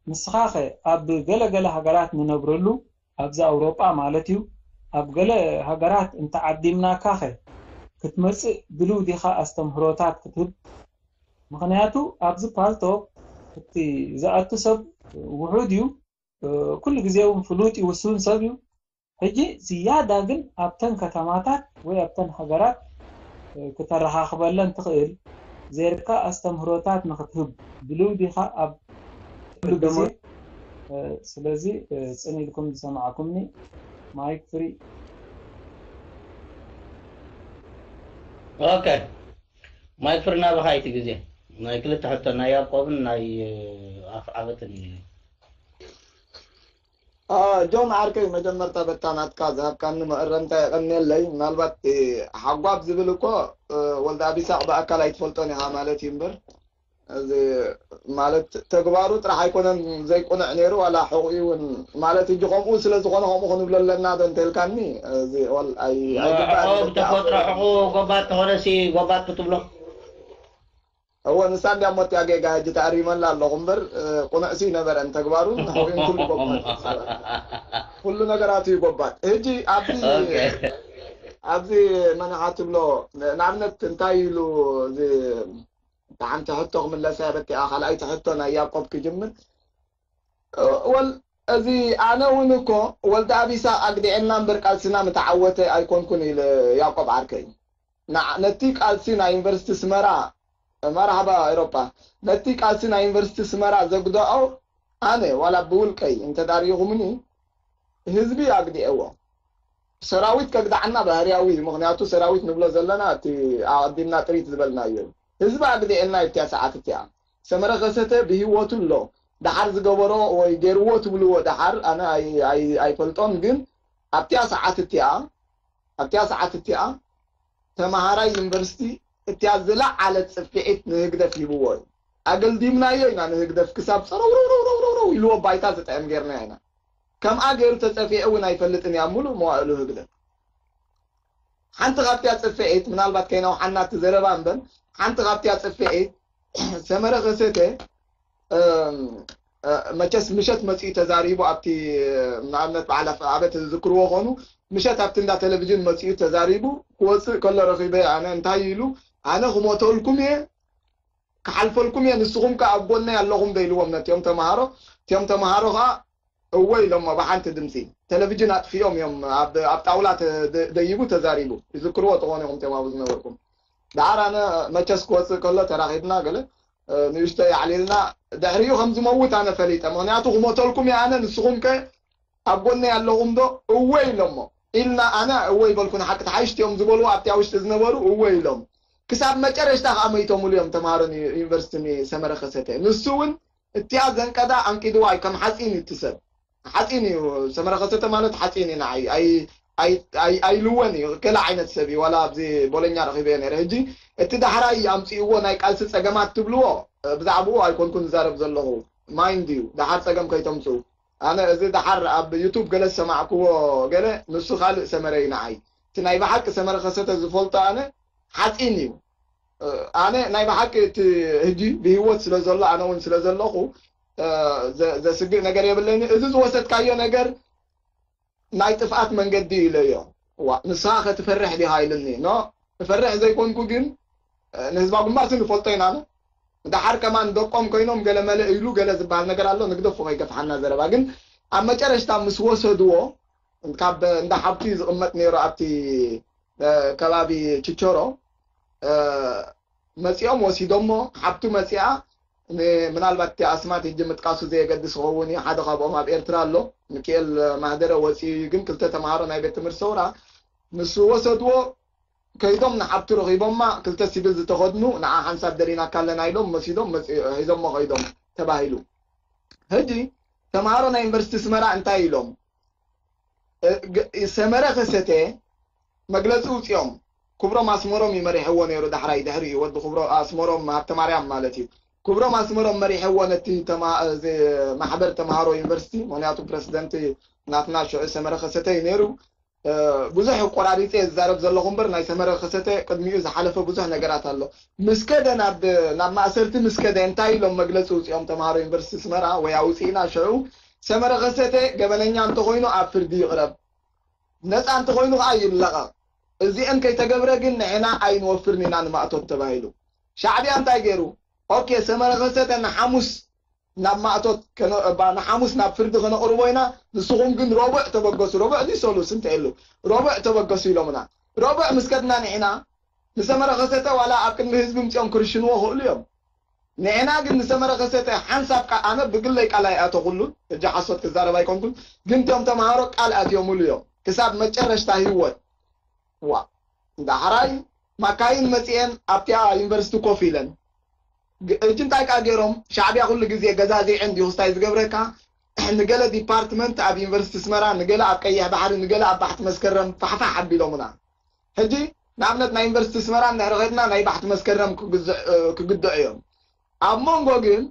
ንስኻ ኸ ኣብ ገለ ገለ ሃገራት ንነብረሉ ኣብዚ ኣውሮጳ ማለት እዩ ኣብ ገለ ሃገራት እንተዓዲምናካ ኸ ክትመጽእ ድልው ዲኻ ኣስተምህሮታት ክትህብ? ምኽንያቱ ኣብዚ ፓልቶክ እቲ ዝኣቱ ሰብ ውሑድ እዩ። ኩሉ ግዜ እውን ፍሉጥ እዩ፣ ውሱን ሰብ እዩ። ሕጂ ዝያዳ ግን ኣብተን ከተማታት ወይ ኣብተን ሃገራት ክተረኻኽበለን ትኽእል ዜርካ ኣስተምህሮታት ንክትህብ ድልው ዲኻ ኣብ ኩሉ ግዜ? ስለዚ ጽን ኢልኩም ዝሰማዕኩምኒ ማይክ ፍሪ። ኦኬ ማይክ ፍሪ ናባኻ እቲ ግዜ ናይ ክልተ ሕቶ ናይ ያዕቆብን ናይ ኣፍዓበትን እዩ። ጆን ዓርከይ መጀመርታ በታ ናትካ ዝሃብካኒ መእረምታ የቐንየለይ። ምናልባት ሓጓብ ዝብል እኮ ወልደ ኣብ ይስሐቅ ብኣካል ኣይትፈልጦን ኢኻ ማለት እዩ እምበር እዚ ማለት ተግባሩ ጥራሕ ኣይኮነን ዘይቁንዕ ነይሩ ዋላ ሕቑኡ እውን ማለት እጂ ከምኡ ስለ ዝኾነ ከምኡ ክንብሎ ኣለና ዶ እንተልካኒ እዚ ወል ኣይ ኣይግባእን ሕቑ በቃ ብተፈጥሮ ሕቑ ጎባጥ ተኾነሲ ጎባጥ ክትብሎ እወ ንሳ እንዲያ ሞት ያጌጋ ሕጂ ተኣሪመላ ኣለኹ እምበር ቁኑዕ ሲ ነበረን ተግባሩን ሕቑኡን ኩሉ ጎባጥ ኩሉ ነገራቱ እዩ ጎባጥ ሕጂ ኣብዚ ኣብዚ መናሓ ትብሎ ንኣብነት እንታይ ኢሉ እዚ ሓንቲ ሕቶ ክምለሳ በቲኣ ካልኣይቲ ሕቶ ናይ ያቆብ ክጅምር ወል እዚ ኣነ እውን እኮ ወልደ ኣብ ይስሐቅ ኣግዲዐና እምበር ቃልስና ምተዓወተ ኣይኮንኩን ኢለ ያቆብ ዓርከይ ነቲ ቃልሲ ናይ ዩኒቨርሲቲ ስመራ መርሓባ ኤሮጳ ነቲ ቃልሲ ናይ ዩኒቨርሲቲ ስመራ ዘግደኦ ኣነ ዋላ ብውልቀይ እንተዳሪኹምኒ ህዝቢ ኣግዲዐዎ ሰራዊት ከግድዓና ባህርያዊ እዩ ምክንያቱ ሰራዊት ንብሎ ዘለና እቲ ኣቀዲምና ጥሪት ዝበልናዮ እዩ ህዝቢ ኣግዲዐና እቲያ ሰዓት እቲኣ ሰመረ ከሰተ ብህይወቱ ኣሎ ደሓር ዝገበሮ ወይ ገይርዎ ትብልዎ ደሓር ኣነ ኣይፈልጦን ግን ኣብቲያ ሰዓት እቲኣ ኣብቲያ ሰዓት እቲኣ ተምሃራይ ዩኒቨርሲቲ እቲያ ዝለዓለት ፅፍዒት ንህግደፍ ሂብዎ እዩ ኣገልዲምናዮ ኢና ንህግደፍ ክሳብ ፀረውረውረውረውረው ኢልዎ ባይታ ዝጥዕም ገይርና ኢና ከምኣ ገይሩ ተፀፊዑ እውን ኣይፈልጥን እያ ሙሉእ መዋእሉ ህግደፍ ሓንቲ ካብቲያ ፅፍዒት ምናልባት ከይነውሓና እቲ ዘረባ እምበር ሓንቲ ካብቲያ ፅፍዒት ሰመረ ከሰተ መቸስ ምሸት መፂኡ ተዛሪቡ ኣብቲ ንኣብነት በዓል ኣበ ትዝክርዎ ኾኑ ምሸት ኣብቲ እንዳ ቴሌቪዥን መፂኡ ተዛሪቡ ክወፅእ ከሎ ረኺበ ኣነ እንታይ ኢሉ ኣነ ክሞተልኩም እየ ክሓልፈልኩም እየ ንስኹም ከ ኣብ ጎነይ ኣለኹም ዶ ኢልዎም ነቲኦም ተምሃሮ እቲኦም ተምሃሮ ከዓ እወ ኢሎሞ ብሓንቲ ድምፂ ቴሌቪዥን ኣጥፊኦም እዮም ኣብ ጣውላ ደይቡ ተዛሪቡ ይዝክርዎ ተኾኑ ኢኹም ተማቡ ዝነበርኩም ደሓር ኣነ መቸስ ክወፅእ ከሎ ተራኺብና ገለ ንእሽቶ ያዕሊልና ድሕሪኡ ከም ዝመውት ኣነ ፈሊጠ ምክንያቱ ክሞተልኩም እየ ኣነ ንስኹም ከ ኣብ ጎነይ ኣለኹም ዶ እወ ኢሎሞ ኢልና ኣነ እወ ይበልኩ ንሓቂ ተሓይሽቲ እዮም ዝበልዎ ኣብቲ ውሽጢ ዝነበሩ እወ ኢሎም ክሳብ መጨረሽታ ከዓ መይቶምሉ እዮም ተምሃሮ ዩኒቨርሲቲ ሰመረ ከሰተ ንሱ እውን እቲኣ ዘንቀዳ ኣንቂድዋ እዩ ከም ሓፂን እዩ እቲ ሰብ ሓፂን እዩ ሰመረ ከሰተ ማለት ሓፂን እዩ ንዓይ ኣይልወን እዩ ገለ ዓይነት ሰብ እዩ ዋላ ኣብዚ ቦለኛ ረኺበዮ ነረ ሕጂ እቲ ዳሕራይ ኣምፅእዎ ናይ ቃልሲ ፀገማት ትብልዎ ብዛዕባኡ ኣይኮንኩ ዝዛረብ ዘለኹ ማይንድ እዩ ዳሓር ፀገም ከይተምፅኡ ኣነ እዚ ዳሓር ኣብ ዩቱብ ገለ ዝሰማዕክዎ ገለ ንሱ ካልእ ሰመረ እዩ ንዓይ እቲ ናይ ብሓቂ ሰመረ ከሰተ ዝፈልጦ ኣነ ሓፂን እዩ። ኣነ ናይ ብሓቂ እቲ ህጂ ብህይወት ስለ ዘሎ ኣነ እውን ስለ ዘለኹ ዘስግእ ነገር የብለይን። እዚ ዝወሰድካዮ ነገር ናይ ጥፍኣት መንገዲ ኢለዮ። ዋ ንስኻ ከትፈርሕ ዲኻ ኢልኒ። ኖ እፈርሕ ዘይኮንኩ ግን ንህዝባዊ ግንባር ንፈልጦ ኢና። ደሓር ከማን ደቆም ኮይኖም ገለ መለ ኢሉ ገለ ዝበሃል ነገር ኣሎ። ንግደፎ ከይገፍሓና ዘረባ ግን ኣብ መጨረሽታ ምስ ወሰድዎ ካብ እንዳ ሓብቲ ዝቕመጥ ነይሩ ኣብቲ ከባቢ ችቸሮ መፂኦም ወሲዶሞ። ሓብቱ መፂኣ ምናልባት እቲ ኣስማት ህጂ ምጥቃሱ ዘየገድስ ክኸውን እዩ። ሓደ ካብኦም ኣብ ኤርትራ ኣሎ፣ ሚኪኤል ማህደረ ወፂኡ እዩ። ግን ክልተ ተምሃሮ ናይ ቤት ትምህርቲ ሰውራ ምስ ወሰድዎ ከይዶም ንሓብቱ ረኺቦማ። ክልተ ሲቪል ዝተኸድኑ ንዓ ሓንሳብ ደሊናካ ኣለና ኢሎም መሲዶም ሒዞሞ ከይዶም ተባሂሉ። ሕጂ ተምሃሮ ናይ ዩኒቨርሲቲ ስመራ እንታይ ኢሎም? ሰመረ ከሰተ መግለፂ ውፅኦም። ክብሮም ኣስመሮም እዩ መሪሕዎ ነይሩ። ዳሕራይ ድሕሪ እዩ ወዲ ክብሮ ኣስመሮም ሃብተ ማርያም ማለት እዩ። ክብሮም ኣስመሮም መሪሕዎ ነቲ ማሕበር ተምሃሮ ዩኒቨርሲቲ። ምክንያቱ ፕረሲደንት ናትና ሽዑ ሰመረ ከሰተ እዩ ነይሩ። ብዙሕ ቆራሪፀ ዝዛረብ ዘለኹ እምበር ናይ ሰመረ ከሰተ ቅድሚኡ ዝሓለፈ ብዙሕ ነገራት ኣሎ። ምስ ከደ ናብ ማእሰርቲ ምስ ከደ እንታይ ኢሎም መግለፂ ውፅኦም ተምሃሮ ዩኒቨርሲቲ ስመራ ወይ ኣውፅእና ሽዑ ሰመረ ከሰተ ገበነኛ እንተኮይኑ ኣብ ፍርዲ ይቕረብ፣ ነፃ እንተኮይኑ ከዓ ይለቐቕ። እዚአን ከይተገብረ ግን ንሕና ኣይንወፍርን ኢና ንማእቶት ተባሂሉ። ሻዕብያ እንታይ ገይሩ? ኦኬ ሰመረ ከሰተ ንሓሙስ ናብ ማእቶት ንሓሙስ ናብ ፍርዲ ከነቕርቦ ኢና፣ ንስኹም ግን ረቡዕ ተበገሱ። ረቡዕ ድዩ ሰሉስ እንተ የሉ ረቡዕ ተበገሱ ኢሎምና። ረቡዕ ምስ ከድና ንሕና ንሰመረ ከሰተ ዋላ ኣብ ቅድሚ ህዝቢ ምፅኦም ክርሽንዎ ክእሉ እዮም። ንሕና ግን ንሰመረ ከሰተ ሓንሳብ ቃ ኣነ ብግለይ ቃል ኣይኣተኹሉን። ሕጂ ሓሶት ክዛረብ ኣይኮንኩን፣ ግን እቶም ተምሃሮ ቃል ኣትዮምሉ እዮም ክሳብ መጨረሽታ ህይወት። ዋ ዳሕራይ ማካይን መፅኤን ኣብቲኣ ዩኒቨርሲቲ ኮፍ ኢለን ሕጂ እንታይ ቃ ገይሮም ሻዕብያ ኩሉ ግዜ ገዛዚዕን ዲዩ ክስታይ ዝገብረካ። ንገለ ዲፓርትመንት ኣብ ዩኒቨርሲቲ ስመራ ንገለ ኣብ ቀይሕ ባሕሪ ንገለ ኣብ ባሕቲ መስከረም ፋሕፋሕ ኣቢሎምና። ሕጂ ንኣብነት ናይ ዩኒቨርሲቲ ስመራ እንድሕር ኸድና ናይ ባሕቲ መስከረም ክግድዑ እዮም። ኣብ መንጎ ግን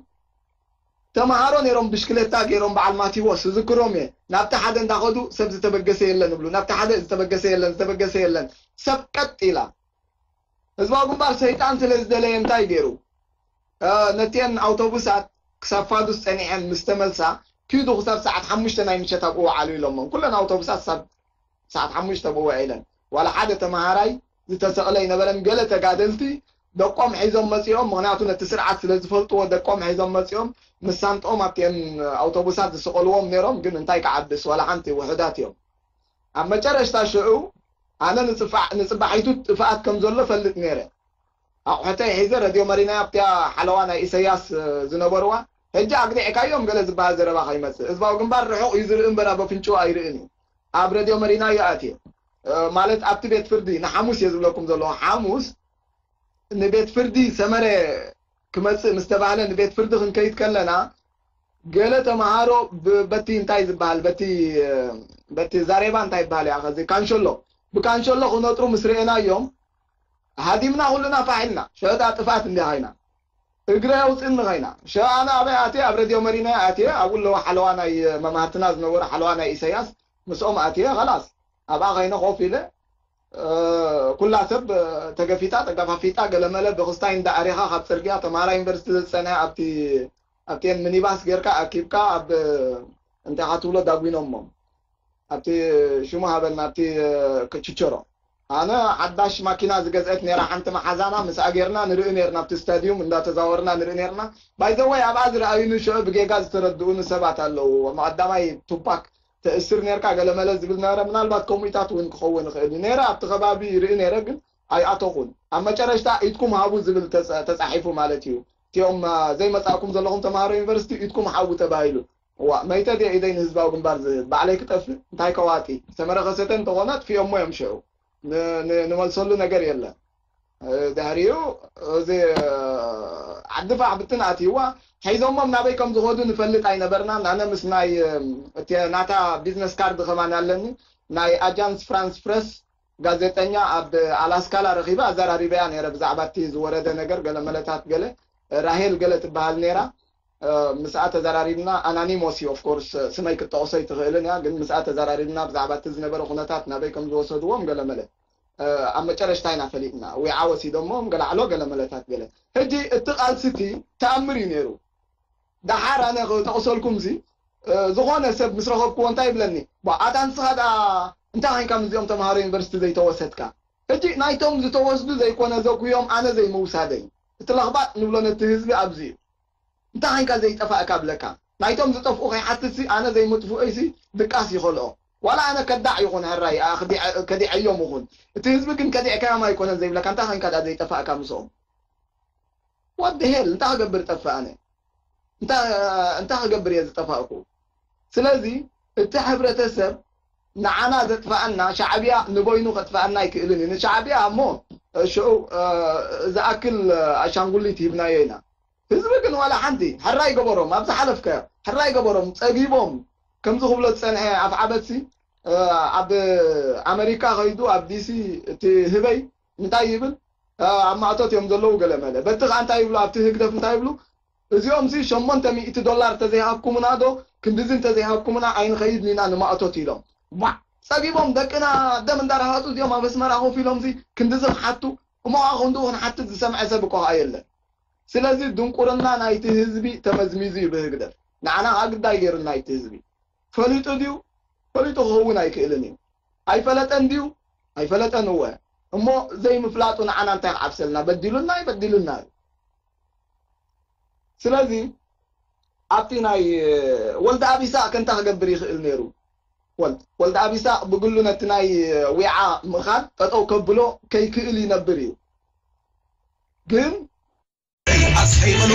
ተምሃሮ ነይሮም ብሽክሌታ ገይሮም በዓል ማቲዎስ ዝዝክሮም እየ። ናብቲ ሓደ እንዳኸዱ ሰብ ዝተበገሰ የለን ይብሉ፣ ናብቲ ሓደ ዝተበገሰ የለን፣ ዝተበገሰ የለን። ሰብ ቀጥ ኢላ። ህዝባዊ ግንባር ሰይጣን ስለ ዝደለየ እንታይ ገይሩ? ነቲአን ኣውቶቡሳት ክሳብ ፋዱስ ጸኒሐን ምስ ተመልሳ ኪዱ ክሳብ ሰዓት ሓሙሽተ ናይ ምሸት ኣብኡ ወዓሉ ኢሎሞም። ኩለን ኣውቶቡሳት ክሳብ ሰዓት ሓሙሽተ ኣብኡ ውዒለን። ዋላ ሓደ ተምሃራይ ዝተሰቕለ ኣይነበረን። ገለ ተጋደልቲ ደቆም ሒዞም መጺኦም፣ ምኽንያቱ ነቲ ስርዓት ስለ ዝፈልጥዎ ደቆም ሒዞም መጺኦም ምስ ሳንጥኦም ኣብቲአን ኣውቶቡሳት ዝስቐልዎም ነይሮም። ግን እንታይ ክዓብስ ዋላ ሓንቲ ውሑዳት እዮም። ኣብ መጨረሽታ ሽዑ ኣነ ንጽባሒቱ ጥፍኣት ከም ዘሎ ፈልጥ ነይረ። ኣቑሑተይ ሒዘ ረድዮ መሪናያ ኣብቲያ ሓለዋ ናይ ኢሰያስ ዝነበርዋ ሕጂ ኣግዲዕካዮም ገለ ዝበሃል ዘረባ ከይመጽእ። ህዝባዊ ግንባር ርሑቕ እዩ ዝርኢ እምበር ኣብ ኣፍንጭኡ ኣይርእን እዩ። ኣብ ረድዮ መሪናዮ ኣትየ ማለት ኣብቲ ቤት ፍርዲ ንሓሙስ እየ ዝብለኩም ዘለኹ። ሓሙስ ንቤት ፍርዲ ሰመረ ክመጽእ ምስ ተባህለ ንቤት ፍርዲ ክንከይድ ከለና ገለ ተምሃሮ በቲ እንታይ ዝበሃል በቲ ዛሬባ እንታይ ይበሃል እያ ከዚ ካንሸሎ ብካንሸሎ ክነጥሩ ምስ ርኤናዮም ሃዲምና ኩልና ፋሕ ኢልና። ሸታ ጥፍኣት እንዲኻ ኢና እግረ ኣውፅእኒ ኸይና ሸኣና ኣበይ ኣትየ ኣብ ረድዮ መሪና ኣትየ ኣብኡ ኣለዋ ሓለዋ ናይ መማህርትና ዝነበሩ ሓለዋ ናይ ኢሰያስ ምስኦም ኣትየ ኸላስ ኣብኣ ኸይነ ኮፍ ኢለ ኩላ ሰብ ተገፊጣ ተገፋፊጣ ገለመለ ብክስታይ እንዳ ኣሪኻ ካብ ፅርግያ ተምሃራይ ዩኒቨርሲቲ ዝፀንሐ ኣብቲ ኣብቲን ሚኒባስ ጌርካ ኣኪብካ ኣብ እንታይ ካ ትብሎ ዳጒኖሞ ኣብቲ ሽሙ ሃበልና ኣብቲ ችቸሮ ኣነ ሓዳሽ ማኪና ዝገዝአት ነራ ሓንቲ መሓዛና ምስኣ ጌርና ንርኢ ነርና ኣብቲ ስታድዩም እንዳተዛወርና ንርኢ ነርና ባይዘወይ ኣብኣ ዝረኣዩኒ ሽዑ ብጌጋ ዝተረድኡኒ ሰባት ኣለዉ መቐዳማይ ቱፓክ ተእስር ነርካ ገለመለ ዝብል ነበረ ምናልባት ከምኡታት እውን ክኸውን ይኽእል እዩ ነረ ኣብቲ ከባቢ ይርኢ ነረ ግን ኣይኣተኹን ኣብ መጨረሽታ ኢድኩም ሃቡ ዝብል ተፃሒፉ ማለት እዩ እቲኦም ዘይመፃእኩም ዘለኹም ተምሃሮ ዩኒቨርሲቲ ኢድኩም ሓቡ ተባሂሉ እዋ መይተ ድየ ኢደይ ንህዝባዊ ግንባር ዝህብ ባዕለይ ክጠፍእ እንታይ ከዋጢ ዝተመረኸሰተ እንተኾነ ኣጥፊኦሞ እዮም ሽዑ ንመልሰሉ ነገር የለን ድሕሪኡ እዚ ዓዲ ፋሕ ብትን ኣትይዋ ሒዞሞም ናበይ ከም ዝኸዱ ንፈልጥ ኣይነበርና ናነ ምስ ናይ ናታ ቢዝነስ ካርድ ከማን ኣለኒ ናይ ኣጃንስ ፍራንስ ፕረስ ጋዜጠኛ ኣብ ኣላስካላ ረኺበ ኣዘራሪበያ ነረ ብዛዕባ እቲ ዝወረደ ነገር ገለ መለታት ገለ ራሄል ገለ ትበሃል ነራ ምስኣ ተዘራሪብና ኣናኒሞስ እዩ ኦፍኮርስ ስመይ ክትጠቕሶ ይትኽእልን እያ ግን ምስኣ ተዘራሪብና ብዛዕባ እቲ ዝነበረ ኩነታት ናበይ ከም ዝወሰድዎም ገለ መለ ኣብ መጨረሽታ ኢና ፈሊጥና። ዊዓ ወሲዶሞ ገላዕሎ ገለ መለታት ገለ። ሕጂ እቲ ቃልሲ እቲ ተኣምር እዩ ነይሩ። ደሓር ኣነ ክጠቕሰልኩም ሲ ዝኾነ ሰብ ምስ ረኸብክዎ እንታይ ይብለኒ፣ ኣታ ንስኻ ደኣ እንታይ ኮይንካ ምስዚኦም ተምሃሮ ዩኒቨርሲቲ ዘይተወሰድካ? ሕጂ ናይቶም ዝተወስዱ ዘይኮነ ዘጉዮም ኣነ ዘይምውሳደይ፣ እቲ ለኽባጥ ንብሎ ነቲ ህዝቢ ኣብዚ እዩ። እንታይ ኮይንካ ዘይጠፋእካ ብለካ? ናይቶም ዝጠፍኡ ከይሓትትሲ ኣነ ዘይምጥፍኦይሲ ድቃስ ይኸልኦ። ዋላ ኣነ ከዳዕ ይኹን ሕራይ ከዲዐዮም ይኹን፣ እቲ ህዝቢ ግን ከዲዕካዮም ኣይኮነን ዘይብለካ። እንታይ ኮይንካ ደኣ ዘይጠፋእካ ምስኦም? ወዲ ሄል እንታይ ክገብር ጠፍእ ኣነ? እንታይ ክገብር እየ ዝጠፋእኩ? ስለዚ እቲ ሕብረተሰብ ንዓና ዘጥፍኣና፣ ሻዕብያ ንበይኑ ከጥፍኣና ኣይክእልን እዩ። ንሻዕብያ እሞ ሽዑ ዝኣክል ኣሻንጉሊት ሂብናዮ ኢና። ህዝቢ ግን ዋላ ሓንቲ ሕራይ ገበሮም፣ ኣብ ዝሓለፍካዮ ሕራይ ገበሮም፣ ጸጊቦም ከምዚ ክብሎ ዝጸንሐ ኣፍዓበትሲ ኣብ ኣመሪካ ከይዱ ኣብ ዲሲ እቲ ህበይ እንታይ ይብል? ኣብ ማእቶት እዮም ዘለዉ ገለ መለ። በቲ ከኣ እንታይ ይብሉ ኣብቲ ህግደፍ እንታይ ይብሉ? እዚኦም ሲ ሸሞንተ ሚእቲ ዶላር ተዘይሃብኩምና ዶ ክንድዚ እንተዘይሃብኩምና ኣይንኸይድን ኢና ንማእቶት ኢሎም። ዋ ጸጊቦም ደቅና ደም እንዳረሃጹ እዚኦም ኣብ ኣስመራ ኮፍ ኢሎም ሲ ክንድዚ ክሓቱ እሞ ከኣ ክንድኡ ክንሓትት ዝሰምዐ ሰብ እኮ ከኣ የለን። ስለዚ ድንቁርና ናይቲ ህዝቢ ተመዝሚዙ እዩ ብህግደፍ። ንዓና ከኣ ግዳይ ገይሩና እቲ ህዝቢ። ፈሊጡ ድዩ? ፈሊጡ ክኸውን ኣይክእልን እዩ። ኣይፈለጠን ድዩ? ኣይፈለጠን እወ። እሞ ዘይምፍላጡ ንዓና እንታይ ክዓብሰልና? በዲሉና እዩ፣ በዲሉና እዩ። ስለዚ ኣብቲ ናይ ወልደ ኣብ ይስሐቅ እንታይ ክገብር ይኽእል ነይሩ? ወልድ ወልደ ኣብ ይስሐቅ ብግሉ ነቲ ናይ ዊዓ ምኻድ ጠጠው ከብሎ ከይክእል ይነብር እዩ። ግን ኣስሒቕሉ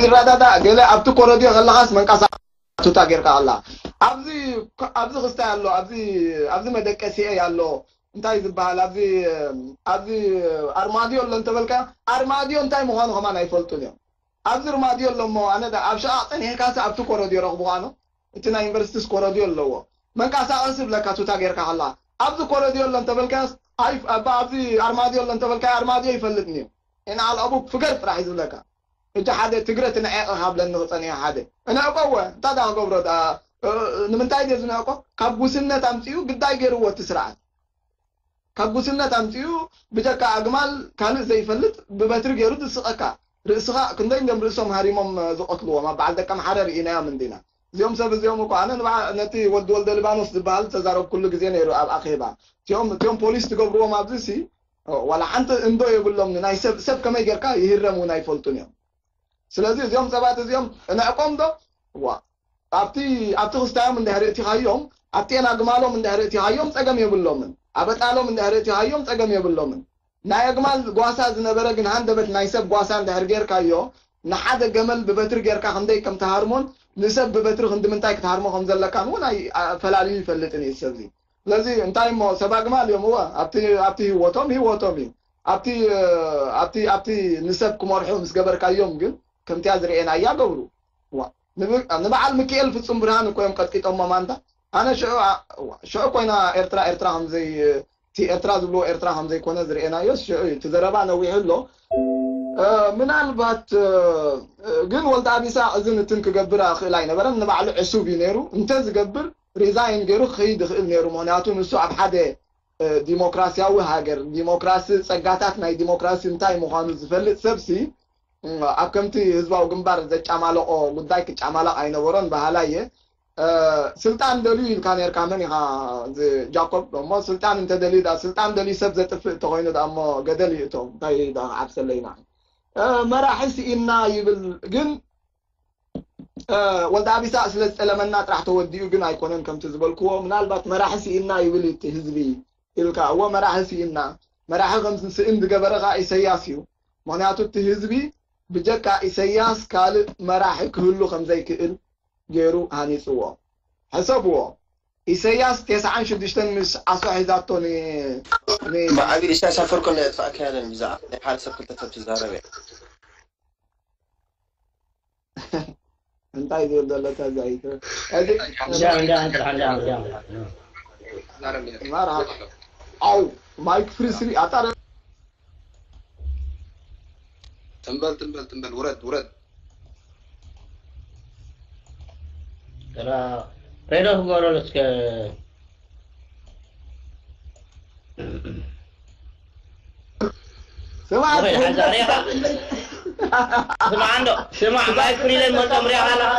ይረዳዳእ። ገለ ኣብቲ ኮረድዮ ከለኻስ መንቀሳቐሲ ቱታ ጌርካ ከላ ኣብዚ ኣብዚ ክስታይ ኣሎ፣ ኣብዚ ኣብዚ መደቀሲኤ ኣሎ፣ እንታይ ዝበሃል ኣብዚ ኣብዚ ኣርማድዮ ኣሎ እንተበልካ ኣርማድዮ እንታይ ምዃኑ ከማን ኣይፈልጡን እዮም። ኣብዚ ርማድዮ ኣሎ እሞ ኣነ ዳ ኣብ ሸቓቕ ጸኒሕካስ ኣብቲ ኮረድዮ ረኽብኻ ኖ። እቲ ናይ ዩኒቨርሲቲስ ኮረድዮ ኣለዎ። መንቀሳቐሲ ይብለካ ቱታ ጌርካ ከላ ኣብዚ ኮረድዮ ኣሎ እንተበልካስ ኣይ ኣብዚ ኣርማድዮ ኣሎ እንተበልካ ኣርማድዮ ይፈልጥን እዩ። ኢና ኣልኣቡ ፍገር ጥራሕ እዩ ዝብለካ። ሕጂ ሓደ ትግረ ትንዕቕ ሃብለኒ ክጸንዮ ሓደ። እንዕቆ እወ፣ እንታይ ደኣ ክገብሮ ደኣ? እ፣ ንምንታይ ድየ ዝንዕቆ? ካብ ጉስነት ኣምጺኡ ግዳይ ገይርዎ እቲ ስርዓት። ካብ ጉስነት ኣምጺኡ ብጀካ ኣግማል ካልእ ዘይፈልጥ ብበትሪ ገይሩ ዝስቐካ። ርእስኻ ክንደይ እንድዮም ርእሶም ሃሪሞም ዝቐትልዎም ኣብ በዓል ደቀምሓረ ርኢናዮም እንዲና። እዚኦም ሰብ እዚኦም እኮ ኣነ ንበዓ-፣ ነቲ ወዲ ወልደ ሊባኖስ ዝበሃል ዝተዛረብኩሉ ግዜ ነይሩ ኣብ ኣኼባ። እቲኦም እቲኦም ፖሊስ ትገብርዎም ኣብዚ ሲ ዋላ ሓንቲ እንዶ የብሎም። ናይ ሰብ ሰብ ከመይ ጌርካ ይህረም እውን ኣይፈልጡን እዮም። ስለዚ እዚኦም ሰባት እዚኦም እንዕቆም ዶ ዋ ኣብቲ ኣብቲ ክስታዮም እንድሕር እቲኻዮም ኣብቲ ኣግማሎም እንድሕር እቲኻዮም ጸገም የብሎምን። ኣብ ኣጣሎም እንድሕር እቲኻዮም ጸገም የብሎምን። ናይ ኣግማል ጓሳ ዝነበረ ግን ሃንደበት ናይ ሰብ ጓሳ እንድሕር ጌርካዮ ንሓደ ገመል ብበትሪ ጌርካ ክንደይ ከም ትሃርሞን ንሰብ ብበትሪ ክንዲ ምንታይ ክትሃርሞ ከም ዘለካን እውን ኣይ- ኣ- ፈላልዩ ይፈልጥን እዩ ሰብዚ። ስለዚ እንታይ እሞ ሰብ ኣግማል እዮም እወ ኣብቲ ኣብቲ ህይወቶም ህይወቶም እዩ ኣብቲ ኣብቲ ኣብቲ ንሰብ ክመርሑ ምስ ገበርካዮም ግን ከምቲያ ዝርኤናያ ገብሩ። ዋ፣ ንብ- ንበዓል ሚካኤል ፍጹም ብርሃን እኮ እዮም ቀጥቂጦሞ ማንታ። ኣነ ሽዑ ኣ- ዋ፣ ሽዑ ኮይና ኤርትራ ኤርትራ ከምዘይ እቲ ኤርትራ ዝብልዎ ኤርትራ ከምዘይኮነ ዝርኤናዮ ሽዑ እዩ። እቲ ዘረባ ነዊሑ ኣሎ። እ፣ ምናልባት እ፣ ግን ወልደ ኣቢሳ እዝን እትን ክገብር ክእል ኣይነበረን። ንባዕሉ ዕሱብ እዩ ነይሩ። እንተ ዝገብር ሪዛይን ገይሩ ክኸይድ ይኽእል ነይሩ። ምኽንያቱ ንሱ ኣብ ሓደ እ፣ ዲሞክራሲያዊ ሃገር ዲሞክራሲ ጸጋታት ናይ ዲሞክራሲ እንታይ ምዃኑ ዝፈልጥ ሰብሲ እ፣ ኣብ ከምቲ ህዝባዊ ግንባር ዘጫማለቆ ጉዳይ ክጫማለቕ ኣይነበሮን በሃላይ እየ። እ፣ ስልጣን ደልዩ ኢልካ ነርካ መን ኢኻ እዚ ጃኮብ እሞ ስልጣን እንተደልዩ ዳ ስልጣን ደልዩ ሰብ ዘጥፍእ እንተኮይኑ ዳ እሞ ገደል ይእቶ እንታይ ዳ ክዓብሰለይ ንዓይ እ፣ መራሒ ስኢንና ይብል ግን እ፣ ወልደ ኣቢሳ ስለ ዝጠለመና ጥራሕ ተወዲኡ ግን ኣይኮነን ከምቲ ዝበልክዎ ምናልባት መራሒ ስኢንና ይብል እቲ ህዝቢ ኢልካ እዎ መራሒ ስኢንና መራሒ ከም ስእን ዝገበረ ከዓ ኢሰያስ እዩ ምክንያቱ እቲ ህዝቢ ብጀካ ኢሰያስ ካልእ መራሒ ክህሉ ከም ዘይክእል ገይሩ ሃኒፅዎ ሕሰብዎ ኢሰያስ ተስዓን ሽዱሽተን ምስ ዓሶ ሒዛቶ ን- ን- ብዓቢ ኢሳያስ ኣፈወርቂ ናይ ኣጥፋእካ ያለን ብዛዕባ ናይ ሓደ ሰብ ክልተ ሰብ ትዛረብ እያ። እንታይ ዝብል ዘሎ ተዛይተ እዚ እንዳ እንዳ እንዳ እንዳ ማራ ኣው ማይክ ፍሪ ስሪ ኣጣረ ትንበል ትንበል ትንበል ውረድ ውረድ። ሬዶ ክገብረሉ እስከ ስማ ወይ ሓዛ ሬኻ ስማዕ እንዶ ስማዕ ማይክ ፍሪ ለይ መልጦም ሬኻ ኣለኻ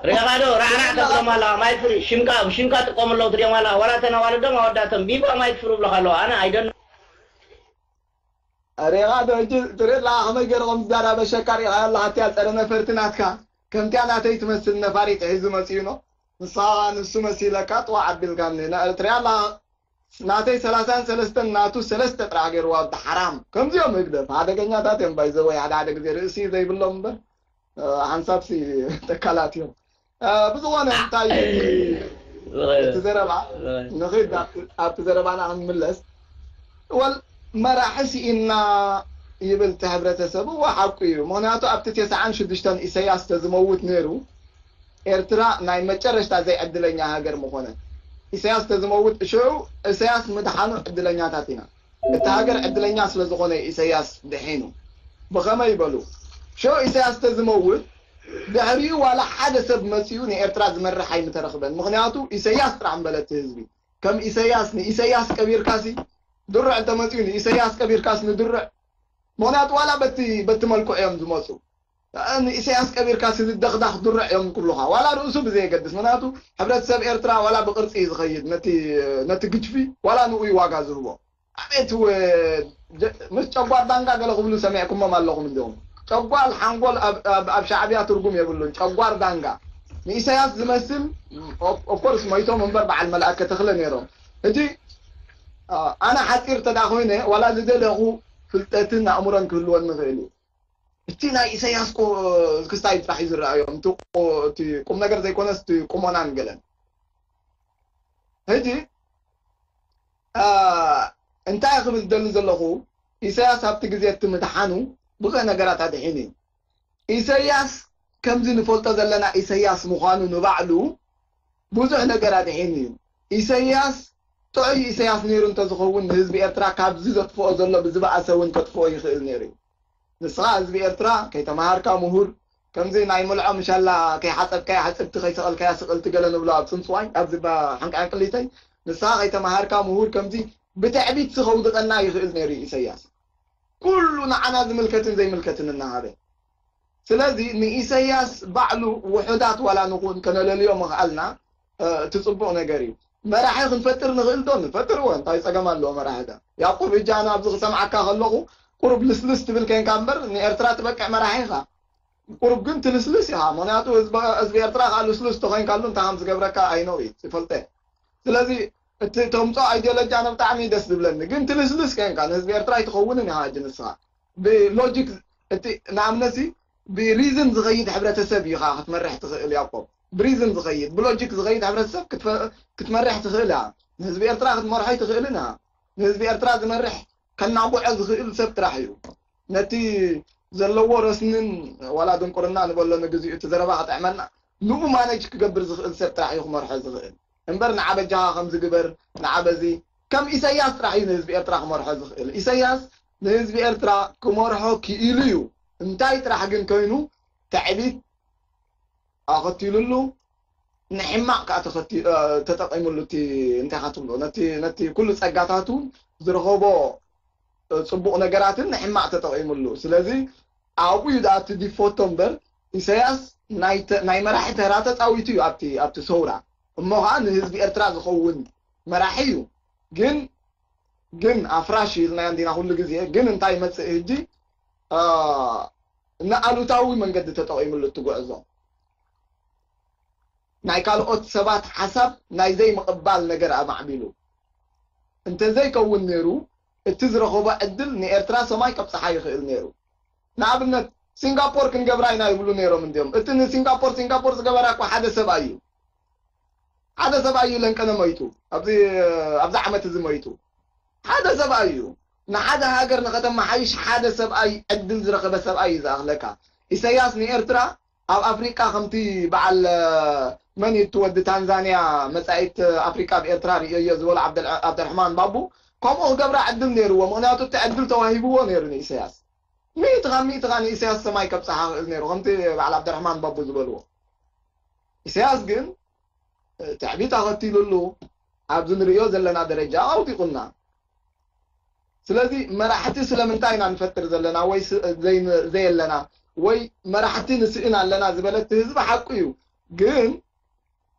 ሬኻ ዶ ራዕራዕ ተብሎም ኣለኻ ማይክ ፍሪ ሽምካ ሽምካ ጥቆም ኣለዉ ትሪኦም ኣለኻ ዋላ ተን ኣዋልዶም ኣወዳቶም ቢባ ማይክ ፍሪ ብለኻ ኣለዋ ኣነ ኣይደን ሬኻ ዶ ሕጂ ትርኢ ኣለኻ ከመይ ገይሩ ከም ዝዛራበሸካ ሪኢኻ ኣለኻ እቲያ ፀረ ነፈርቲ ናትካ ከምቲያ ናተይ ትመስል ነፋሪት ሒዙ መፂኡ ኖ ንስኻ ንሱ መሲለካ ጥዋዕ ኣቢልካኒ ትሪኣ ኣለኻ ናተይ ሰላሳን ሰለስተን ናቱ ሰለስተ ጥራሕ ገይርዋ ኣታ ሓራም ከምዚኦም ህግደፍ ሓደገኛታት እዮም ባይዘወይ ሓደ ሓደ ግዜ ርእሲ ዘይብሎም እምበር ሓንሳብሲ ተካላት እዮም ብዝኾነ እንታይ እቲ ዘረባ ንኽድ ኣብቲ ዘረባና ክንምለስ ወል መራሒ ስኢንና ይብል እቲ ሕብረተሰብ እወ ሓቁ እዩ ምክንያቱ ኣብቲ ተስዓን ሽዱሽተን ኢሰያስ ተዝመውት ነይሩ ኤርትራ ናይ መጨረሽታ ዘይዕድለኛ ሃገር ምኾነት ኢሰያስ ተዝመውት ሽዑ ኢሰያስ ምድሓኑ ዕድለኛታት ኢና እቲ ሃገር ዕድለኛ ስለዝኾነ ኢሰያስ ድሒኑ ብኸመይ ይበሉ ሽዑ ኢሰያስ ተዝመውት ድሕሪኡ ዋላ ሓደ ሰብ መፂኡ ንኤርትራ ዝመርሕ ኣይምተረኽበን ምኽንያቱ ኢሰያስ ጥራሕ ምበለ እቲ ህዝቢ ከም ኢሰያስ ንኢሰያስ ቀቢርካሲ ድርዕ እንተመፂኡ ንኢሰያስ ቀቢርካስ ንድርዕ ምኽንያቱ ዋላ በቲ በቲ መልክዑ እዮም ዝመፁ ንኢሰያስ ቀቢርካሲ ዝደኽዳኽ ድርዕ እዮም ክብሉኻ ዋላ ርእሱ ብዘየገድስ ምኽንያቱ ሕብረተሰብ ኤርትራ ዋላ ብቅርፂ እዩ ዝኸይድ ነቲ ነቲ ግጅፊ ዋላ ንኡ እዩ ዋጋ ዝህቦ ኣቤት ወ- ጀ- ምስ ጨጓር ዳንጋ ገለ ክብሉ ሰሚዕኩሞም ኣለኹም እንዲኹም ጨጓር ሓንጎል ኣብ- ኣብ ኣብ ሻዕብያ ትርጉም የብሉን ጨጓር ዳንጋ ንኢሳያስ ዝመስል ኦፍኮርስ መይቶም እምበር በዓል መልኣከ ተኽለ ነይሮም ሕጂ አ- ኣነ ሓፂር ተዳ ኮይነ ዋላ ዝደለኹ ፍልጠትን ኣእምሮን ክህልወን ንኽእል እዩ እቲ ናይ ኢሳያስ ክስታይ ጥራሕ እዩ ዝረኣዮም እቲ ቁም ነገር ዘይኮነስ እቲ ቁሞናን ገለን ሕጂ እንታይ ክብል ዝደሊ ዘለኹ ኢሳያስ ኣብቲ ግዜ እቲ ምድሓኑ ብዙሕ ነገራት ኣድሒኑ እዩ ኢሳያስ ከምዚ ንፈልጦ ዘለና ኢሳያስ ምዃኑ ንባዕሉ ብዙሕ ነገር ኣድሒኑ እዩ ኢሳያስ ጥዑይ ኢሳያስ ነይሩ እንተዝኸውን ንህዝቢ ኤርትራ ካብዚ ዘጥፍኦ ዘሎ ብዝበኣሰ እውን ከጥፍኦ ይኽእል ነይሩ እዩ ንስኻ ህዝቢ ኤርትራ ከይተምሃርካ ምሁር ከምዚ ናይ ምልዖ ምሻላ ከይሓፀብካያ ሕፅብቲ ከይሰቐልካያ ስቕልቲ ገለ ንብሎ ኣብ ፅንፅዋይ ኣብዚ ሓንቃ ዕንቅሊተይ ንስኻ ከይተምሃርካ ምሁር ከምዚ ብትዕቢት ከውድቐና ይኽእል ነይሩ ኢሰያስ ኩሉ ንዓና ዝምልከትን ዘይምልከትን እናሃበ ስለዚ ንኢሰያስ ባዕሉ ውሑዳት ዋላ ንኹን ከነለልዮ ምኽኣልና እቲ ፅቡቕ ነገር እዩ መራሒ ክንፈጥር ንኽእል ዶ ንፈጥር እወ እንታይ ፀገም ኣለዎ መራሒ ዳ ያዕቆብ ሕጂ ኣነ ኣብዚ ክሰምዓካ ከለኹ ቁሩብ ልስልስ ትብል ከንካ እምበር ንኤርትራ ትበቅዕ መራሒ ኢኻ ቁሩብ ግን ትልስልስ ኢኻ ምክንያቱ ህዝቢ ኤርትራ ከዓ ልስሉስ ተኮይንካሉ እንታይ ከም ዝገብረካ ኣይነው እዩ ይፈልጠ ስለዚ እቲ ተምፆ ኣይዲዮሎጂ ኣነ ብጣዕሚ ደስ ዝብለኒ ግን ትልስልስ ከንካ ንህዝቢ ኤርትራ ኣይትኸውንን ኢኻ ሕጂ ንስኻ ብሎጂክ እቲ ንኣብነሲ ብሪዝን ዝኸይድ ሕብረተሰብ እዩ ከዓ ክትመርሕ ትኽእል ያቆብ ብሪዝን ዝኸይድ ብሎጂክ ዝኸይድ ሕብረተሰብ ክትመርሕ ትኽእል እያ ንህዝቢ ኤርትራ ክትመርሖ ኣይትኽእልን እያ ንህዝቢ ኤርትራ ዝመርሕ ከናጉዖ ዝኽእል ሰብ ጥራሕ እዩ ነቲ ዘለዎ ረስንን ዋላ ድንቁርና ንበሎ ንግዚኡ እቲ ዘረባ ክጥዕመና ንኡ ማነጅ ክገብር ዝኽእል ሰብ ጥራሕ እዩ ክመርሖ ዝኽእል እምበር ንዓ በጃኻ ከምዚ ግበር ንዓ በዚ ከም ኢሰያስ ጥራሕ እዩ ንህዝቢ ኤርትራ ክመርሖ ዝኽእል ኢሰያስ ንህዝቢ ኤርትራ ክመርሖ ክኢሉ እዩ እንታይ ጥራሕ ግን ኮይኑ ትዕቢት ኣኸቲሉሉ ንሕማቕ ከዓ ተኸቲ- እ፣ ተጠቒሙሉ እቲ እንታይ ኢኻ ትብሎ ነቲ ነቲ ኩሉ ጸጋታቱ ዝረኸቦ እ፣ ጽቡቕ ነገራትን ንሕማቕ ተጠቒሙሉ ስለዚ ኣብኡ እዩ ደኣ እቲ ዲፎቶ እምበር ኢሳያስ ናይ ተ- ናይ መራሒ ተራ ተጻዊቱ እዩ ኣብቲ ኣብቲ ሰውራ እሞ ከዓ ንህዝቢ ኤርትራ ዝኸውን መራሒ እዩ ግን ግን ኣፍራሽ ኢልናዮ እንዲና ኩሉ ግዜ ግን እንታይ ይመፅእ ህጂ ንኣሉታዊ መንገዲ ተጠቒምሉ እቲ ጉዕዞ ናይ ካልኦት ሰባት ሓሳብ ናይ ዘይምቕባል ነገር ኣማዕቢሉ እንተዘይከውን ነይሩ እቲ ዝረኸቦ ዕድል ንኤርትራ ሰማይ ከብፅሓ ይኽእል ነይሩ ንኣብነት ሲንጋፖር ክንገብራ ኢና ይብሉ ነይሮም እንዲዮም እቲ ንሲንጋፖር ሲንጋፖር ዝገበራ እኮ ሓደ ሰብኣይ እዩ ሓደ ሰብኣይ እዩ ለንቀነ ሞይቱ። ኣብዚ ኣብዚ ዓመት እዚ ሞይቱ ሓደ ሰብኣይ እዩ። ንሓደ ሃገር ንኸተመሓይሽ ሓደ ሰብኣይ ዕድል ዝረኸበ ሰብኣይ እዩ ዝኣኽለካ። ኢሳያስ ንኤርትራ ኣብ ኣፍሪቃ ከምቲ በዓል መን እዩ እቲ ወዲ ታንዛንያ መጻኢት ኣፍሪቃ ብኤርትራ ርእዮ ዝበሎ ዓብደል- ዓብደልርሕማን ባቡ ከምኡ ክገብራ ዕድል ነይርዎ። ምክንያቱ እቲ ዕድል ተዋሂብዎ ነይሩ ንኢሳያስ። ሚእቲ ካብ ሚእቲ ከኣ ንኢሳያስ ሰማይ ከብጽሓ ክእል ነይሩ ከምቲ በዓል ዓብደልርሕማን ባቡ ዝበልዎ። ኢሳያስ ግን ትዕቢት ኣኸቲሉሉ ኣብዚ ንርእዮ ዘለና ደረጃ ኣውዲቑና። ስለዚ መራሕቲ ስለምንታይ ኢና ንፈጥር ዘለና ወይ ስ- ዘይን- ዘየለና ወይ መራሕቲ ንስእን ኣለና ዝበለ እቲ ህዝቢ ሓቁ እዩ። ግን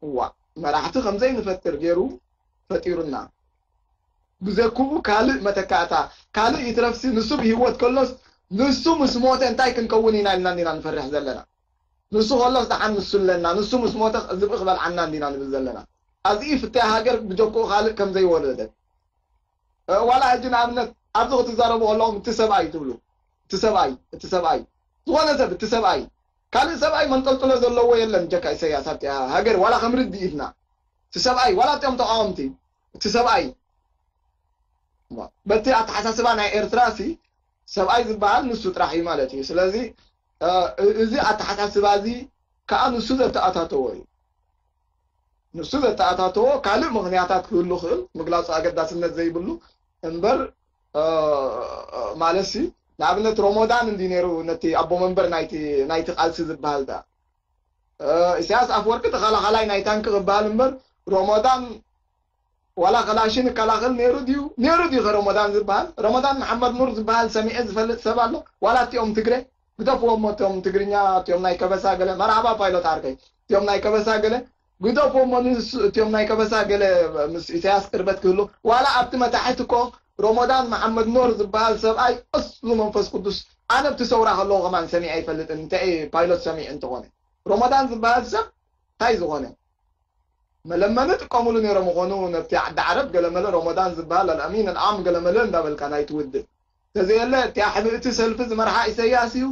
እዋ መራሕቲ ከምዘይ ንፈጥር ገይሩ ፈጢሩና። ብዘኩቡ ካልእ መተካእታ ካልእ ይትረፍሲ ንሱ ብህይወት ከሎስ ንሱ ምስ ሞተ እንታይ ክንከውን ኢና ኢልና እንዲና ንፈርሕ ዘለና። ንሱ ከሎስ ደሓን ንሱ ኣለና፣ ንሱ ምስ ሞተ ዝብኢ ክበልዓና እንዲና ንብል ዘለና። ኣዚ ፍትያ ሃገር ብጀክኡ ካልእ ከም ዘይወለደት። እ፣ ዋላ ሕጂ ንኣብነት ኣብዚ ክትዛረቡ ከለኹም እቲ ሰብኣይ ትብሉ፣ እቲ ሰብኣይ፣ እቲ ሰብኣይ፣ ዝኾነ ሰብ እቲ ሰብኣይ፣ ካልእ ሰብኣይ መንጠልጥሎ ዘለዎ የለን ጀካ ኢሳያስ ኣብቲ ሃገር ዋላ ከም ርድኢትና። እቲ ሰብኣይ፣ ዋላ እቲኦም ተቃወምቲ፣ እቲ ሰብኣይ፣ በቲ ኣተሓሳስባ ናይ ኤርትራ ሲ ሰብኣይ ዝበሃል ንሱ ጥራሕ እዩ ማለት እዩ። ስለዚ እ፣ እዚ ኣተሓሳስባ እዚ ከዓ ንሱ ዘተኣታተዎ እዩ። ንሱ ዘተኣታተዎ ካልእ ምኽንያታት ክህሉ ክእል ምግላጹ ኣገዳስነት ዘይብሉ እምበር እ፣ ማለት ሲ ንኣብነት ሮሞዳን እንዲ ነይሩ ነቲ ኣቦ መንበር ናይቲ ናይቲ ቃልሲ ዝበሃል ዳ እ፣ ኢሳያስ ኣፈወርቂ ተኸላኸላይ ናይ ታንክ ክበሃል እምበር ሮሞዳን ዋላ ከላሽን ይከላኸል ነይሩ ድዩ? ነይሩ ድዩ ከረሞዳን ዝበሃል? ረሞዳን መሓመድ ኑር ዝበሃል ሰሚዐ ዝፈልጥ ሰብ ኣሎ? ዋላ እቲኦም ትግረ ግደፍዎም እሞ እቲኦም ትግርኛ እቲኦም ናይ ከበሳ ገለ መርሓባ ፓይሎት ዓርከይ እቲኦም ናይ ከበሳ ገለ ግደፍዎም እሞ ንስ እቲኦም ናይ ከበሳ ገለ ምስ ኢሳያስ ቅርበት ክህሉ ዋላ ኣብቲ መታሕት እኮ ረሞዳን መሓመድ ኑር ዝበሃል ሰብኣይ እሱ መንፈስ ቅዱስ ኣነ ኣብቲ ሰውራ ከለኹ ከማን ሰሚዐ ኣይፈልጥን እንታይ ፓይሎት ሰሚዕ እንተኾነ ረሞዳን ዝበሃል ሰብ እንታይ ዝኾነ መለመኒ ጥቀሙሉ ነይሮም ምኾኑ ነብቲ ዓዲ ዓረብ ገለመለ ረመዳን ዝበሃል ኣልኣሚን ኣልዓም ገለመለ እንዳበልካ ናይ ትውድእ ተዘየለ እቲያ ሕብእቲ ሰልፊ ዝመርሓ ኢሰያስ እዩ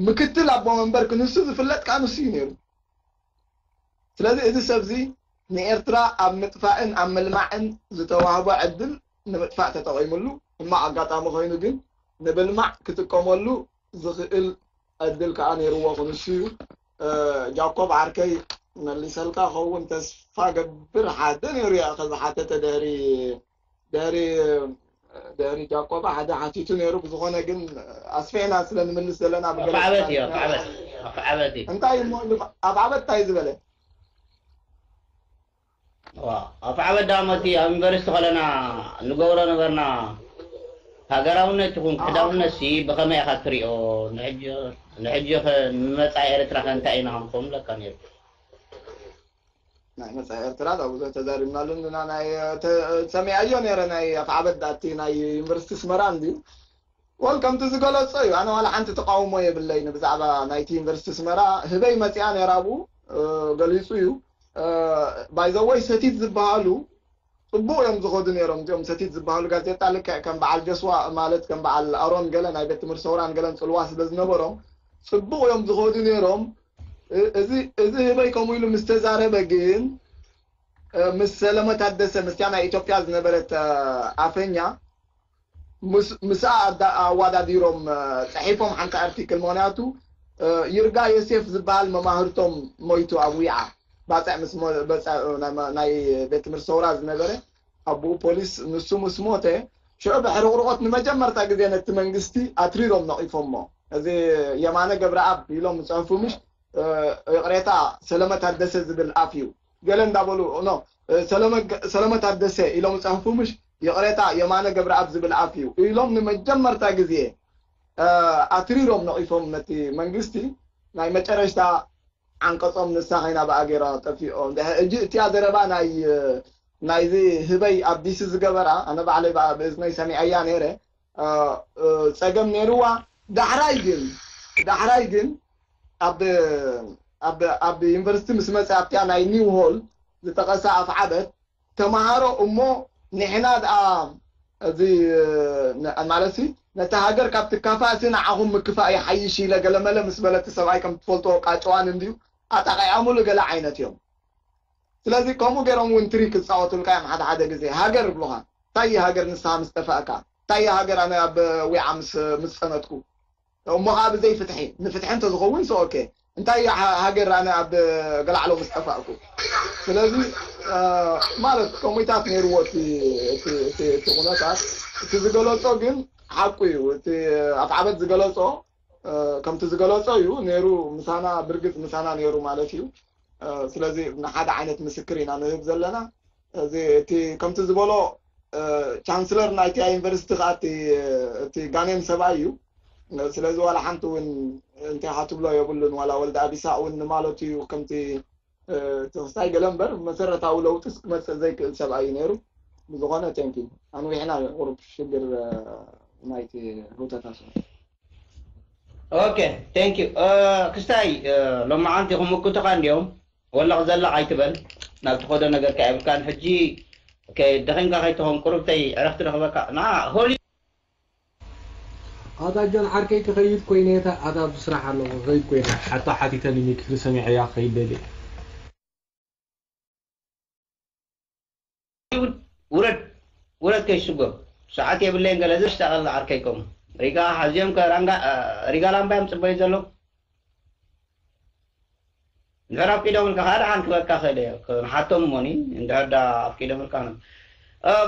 ምክትል ኣቦ መንበር ክንሱ ዝፍለጥ ከዓ ንሱ እዩ ነይሩ ስለዚ እዚ ሰብዚ ንኤርትራ ኣብ ምጥፋእን ኣብ ምልማዕን ዝተዋህቦ ዕድል ንምጥፋእ ተጠቒሙሉ ሕማቕ ኣጋጣሚ ኮይኑ ግን ንብልማዕ ክጥቀመሉ ዝኽእል ዕድል ከዓ ነይርዎ ክንሱ እዩ ጃኮብ ዓርከይ መሊሰልካ ኸውን ተስፋ ገብር ሓደ ነይሩ እያ ከዝሓተተ ድሕሪ ድሕሪ ድሕሪ ጃኮባ ሓደ ሓቲቱ ነይሩ ብዝኾነ ግን ኣስፊሕና ስለ ንምልስ ዘለና ብገለ ኣፍዓበት እዩ ኣፍዓበት ኣፍዓበት እዩ እንታይ እሞ ኣፍዓበት እንታይ ዝበለ ኣፍዓበት ዳሞ እቲ ኣብ ዩኒቨርሲቲ ከለና ንገብሮ ነበርና ሃገራውነት ይኹን ክሕዳውነት ሲ ብኸመይ ኢኻ ትሪኦ ንሕጂ ኸ ንመፃኢ ኤርትራ ከ እንታይ ኢና ክንኮኑ ለካ ነይሩ ናይ መፃኢ ኤርትራ ዳ ብዙሕ ተዛሪብናሉ ንና ናይ ሰሚዐዮ ነይረ ናይ ኣፍዓበት ዳቲ ናይ ዩኒቨርሲቲ ስመራ እንድዩ ወል ከምቲ ዝገለጾ እዩ ኣነ ዋላ ሓንቲ ተቃውሞ የብለይን ብዛዕባ ናይቲ ዩኒቨርሲቲ ስመራ ህበይ መፂኣ ነይራ ብኡ ገሊፁ እዩ ባይዘወይ ሰቲት ዝበሃሉ ፅቡቅ እዮም ዝኸዱ ነይሮም እዚኦም ሰቲት ዝበሃሉ ጋዜጣ ልክዕ ከም በዓል ጀስዋ ማለት ከም በዓል ኣሮን ገለ ናይ ቤት ትምህርቲ ሰውራን ገለን ፅልዋ ስለ ዝነበሮም ፅቡቅ እዮም ዝኸዱ ነይሮም እዚ ህበይ ከምኡ ኢሉ ምስ ተዛረበ ግን ምስ ሰለመ ታደሰ ምስቲያ ናይ ኢትዮጵያ ዝነበረት ኣፈኛ ምስኣ ኣዋዳዲሮም ፅሒፎም ሓንቲ ኣርቲክል ምክንያቱ ይርጋ ዮሴፍ ዝበሃል መማህርቶም ሞይቱ ኣብ ዊዓ ባፅዕ ምስ ናይ ቤት ትምህርቲ ሰውራ ዝነበረ ኣቦኡ ፖሊስ ንሱ ምስ ሞተ ሽዑ ብሕርቕርቆት ንመጀመርታ ግዜ ነቲ መንግስቲ ኣትሪሮም ነቒፎሞ እዚ የማነ ገብረኣብ ኢሎም ዝፅሕፉ ምሽ ይቕሬታ ሰለመ ታደሰ ዝብል ኣፍ እዩ ገለ እንዳበሉ ኖ ሰለመ ታደሰ ኢሎም ዝፅሕፉ ምሽ ይቕሬታ የማነ ገብረኣብ ዝብል ኣፍ እዩ ኢሎም ንመጀመርታ ግዜ ኣትሪሮም ነቒፎም ነቲ መንግስቲ ናይ መጨረሽታ ዓንቀፆም ንሳ ከይና ብኣ ገይራ ጠፊኦም ሕጂ እቲኣ ዘረባ ናይ ናይዚ ህበይ ኣብ ዲሲ ዝገበራ ኣነ ባዕለይ ብእዝነይ ሰሚዐያ ነይረ ፀገም ነይርዋ ዳሕራይ ግን ዳሕራይ ግን ኣብ ኣብ ዩኒቨርሲቲ ምስ መፀ ኣብቲያ ናይ ኒው ሆል ዝጠቀሳ ኣፍዓበት ተምሃሮ እሞ ንሕና ደኣ እዚ ማለት ነቲ ሃገር ካብ ትካፋእሲ ንዓኹም ምክፋእ ይሓይሽ ኢለ ገለመለ ምስ በለቲ ሰብኣይ ከም ትፈልጥዎ ቃጭዋን እንድዩ ኣጣቂዖምሉ ገለ ዓይነት እዮም ስለዚ ከምኡ ገይሮም እውን ትሪክ ክፃወቱልካ እዮም። ሓደ ሓደ ግዜ ሃገር ይብሉኻ። እንታይ እዩ ሃገር ንስኻ ምስ ጠፋእካ? እንታይ እዩ ሃገር ኣነ ኣብ ዊዓ ምስ ምስ ፀነትኩ? እሞ ከዓ ብዘይ ፍትሒ፣ ንፍትሒ እንተዝኸውን ሰ ኦኬ። እንታይ እዩ ሃ- ሃገር ኣነ ኣብ ገላዕሎ ምስ ጠፋእኩ? ስለዚ እ፣ ማለት ከምኡታት ነይርዎ እቲ እቲ- እቲ- እቲ ኩነታት። እቲ ዝገለፆ ግን ሓቁ እዩ። እቲ ኣፍዓበት ዝገለፆ እ፣ ከምቲ ዝገለጾ እዩ ነይሩ። ምሳና ብርግጽ ምሳና ነይሩ ማለት እዩ። እ፣ ስለዚ ንሓደ ዓይነት ምስክር ኢና ንህብ ዘለና። እዚ እቲ ከምቲ ዝበሎ እ፣ ቻንስለር ናይቲ ዩኒቨርሲቲ ከዓ እቲ እቲ ጋኔን ሰብኣይ እዩ። ስለዚ ዋላ ሓንቲ እውን እንታይ ክትብሎ የብሉን። ዋላ ወልደ ኣቢሳ እውን ንማለቱ እዩ ከምቲ እ፣ ተኽስታይ ገለ እምበር መሰረታዊ ለውጢስ ክመፅእ ዘይክእል ሰብኣይ እዩ ነይሩ። ብዝኾነ ቴንኪ ኣንዊሕና ቁሩብ ሽግር እ፣ ናይቲ ሩተታ ስለ ኦኬ ቴንክ ዩ ክስታይ ሎማዓንቲ ክምክቱኻ እንዲዮም ወላ ክዘልቕ ኣይትበል ናብ ትኸዶ ነገር ከ የብልካን ሕጂ ደኺምካ ከይትኸውን ቁሩብተይ ዕረፍቲ ረኽበካ ና ሆሊ ኣታ ጆን ዓርከይ ክኸይድ ኮይነ ኣታ ኣብዚ ስራሕ ኣለኹ ክኸይድ ኮይነ ሓታ ሓቲተኒ ሚክሪ ሰሚዐያ ክኸይድ ደልየ ውረድ ውረድ ከይስጎም ሰዓት የብለይን ገለ ዘሽታቐል ዓርከይኮም ሪጋ ሓዚኦም ከራንጋ ሪጋ ላምባ እዮም ፅበዩ ዘለዉ እንድሕር ኣፍቂዶምልካ ከዓ ደሓን ክበካ ክእል እየ ንሓቶም እሞኒ እንድሕር ዳ ኣፍቂዶምልካ ነ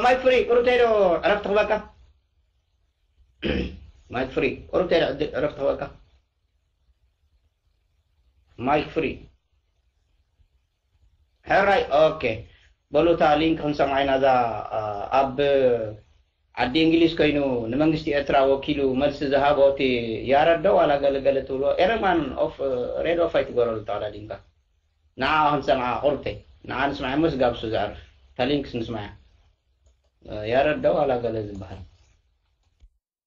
ማይክ ፍሪ ቁሩብ ተይዶ ዕረፍቲ ክበካ ማይክ ፍሪ ቁሩብ ተይዶ ዕረፍቲ ክበካ ማይክ ፍሪ ሕራይ ኦኬ በሉ እታ ሊንክ ክንሰምዓ ኢና እዛ ኣብ ዓዲ እንግሊዝ ኮይኑ ንመንግስቲ ኤርትራ ወኪሉ መልሲ ዝሃቦ እቲ ያረዶ ዋላ ገለገለ ትብሎ ኤረማን ኦፍ ሬድ ኦፍ ኣይትገረሉ ተቐዳዲምካ ንዓ ክንሰምዓ ቁርብተይ ንዓ ንስማዕ እሞ ስጋብ እሱ ዘዕርፍ እታ ሊንክስ ንስማያ ያረዶ ዋላ ገለ ዝበሃል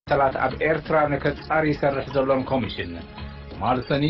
ተላት ኣብ ኤርትራ ንከጻሪ ይሰርሕ ዘሎን ኮሚሽን ትማል ሰኒ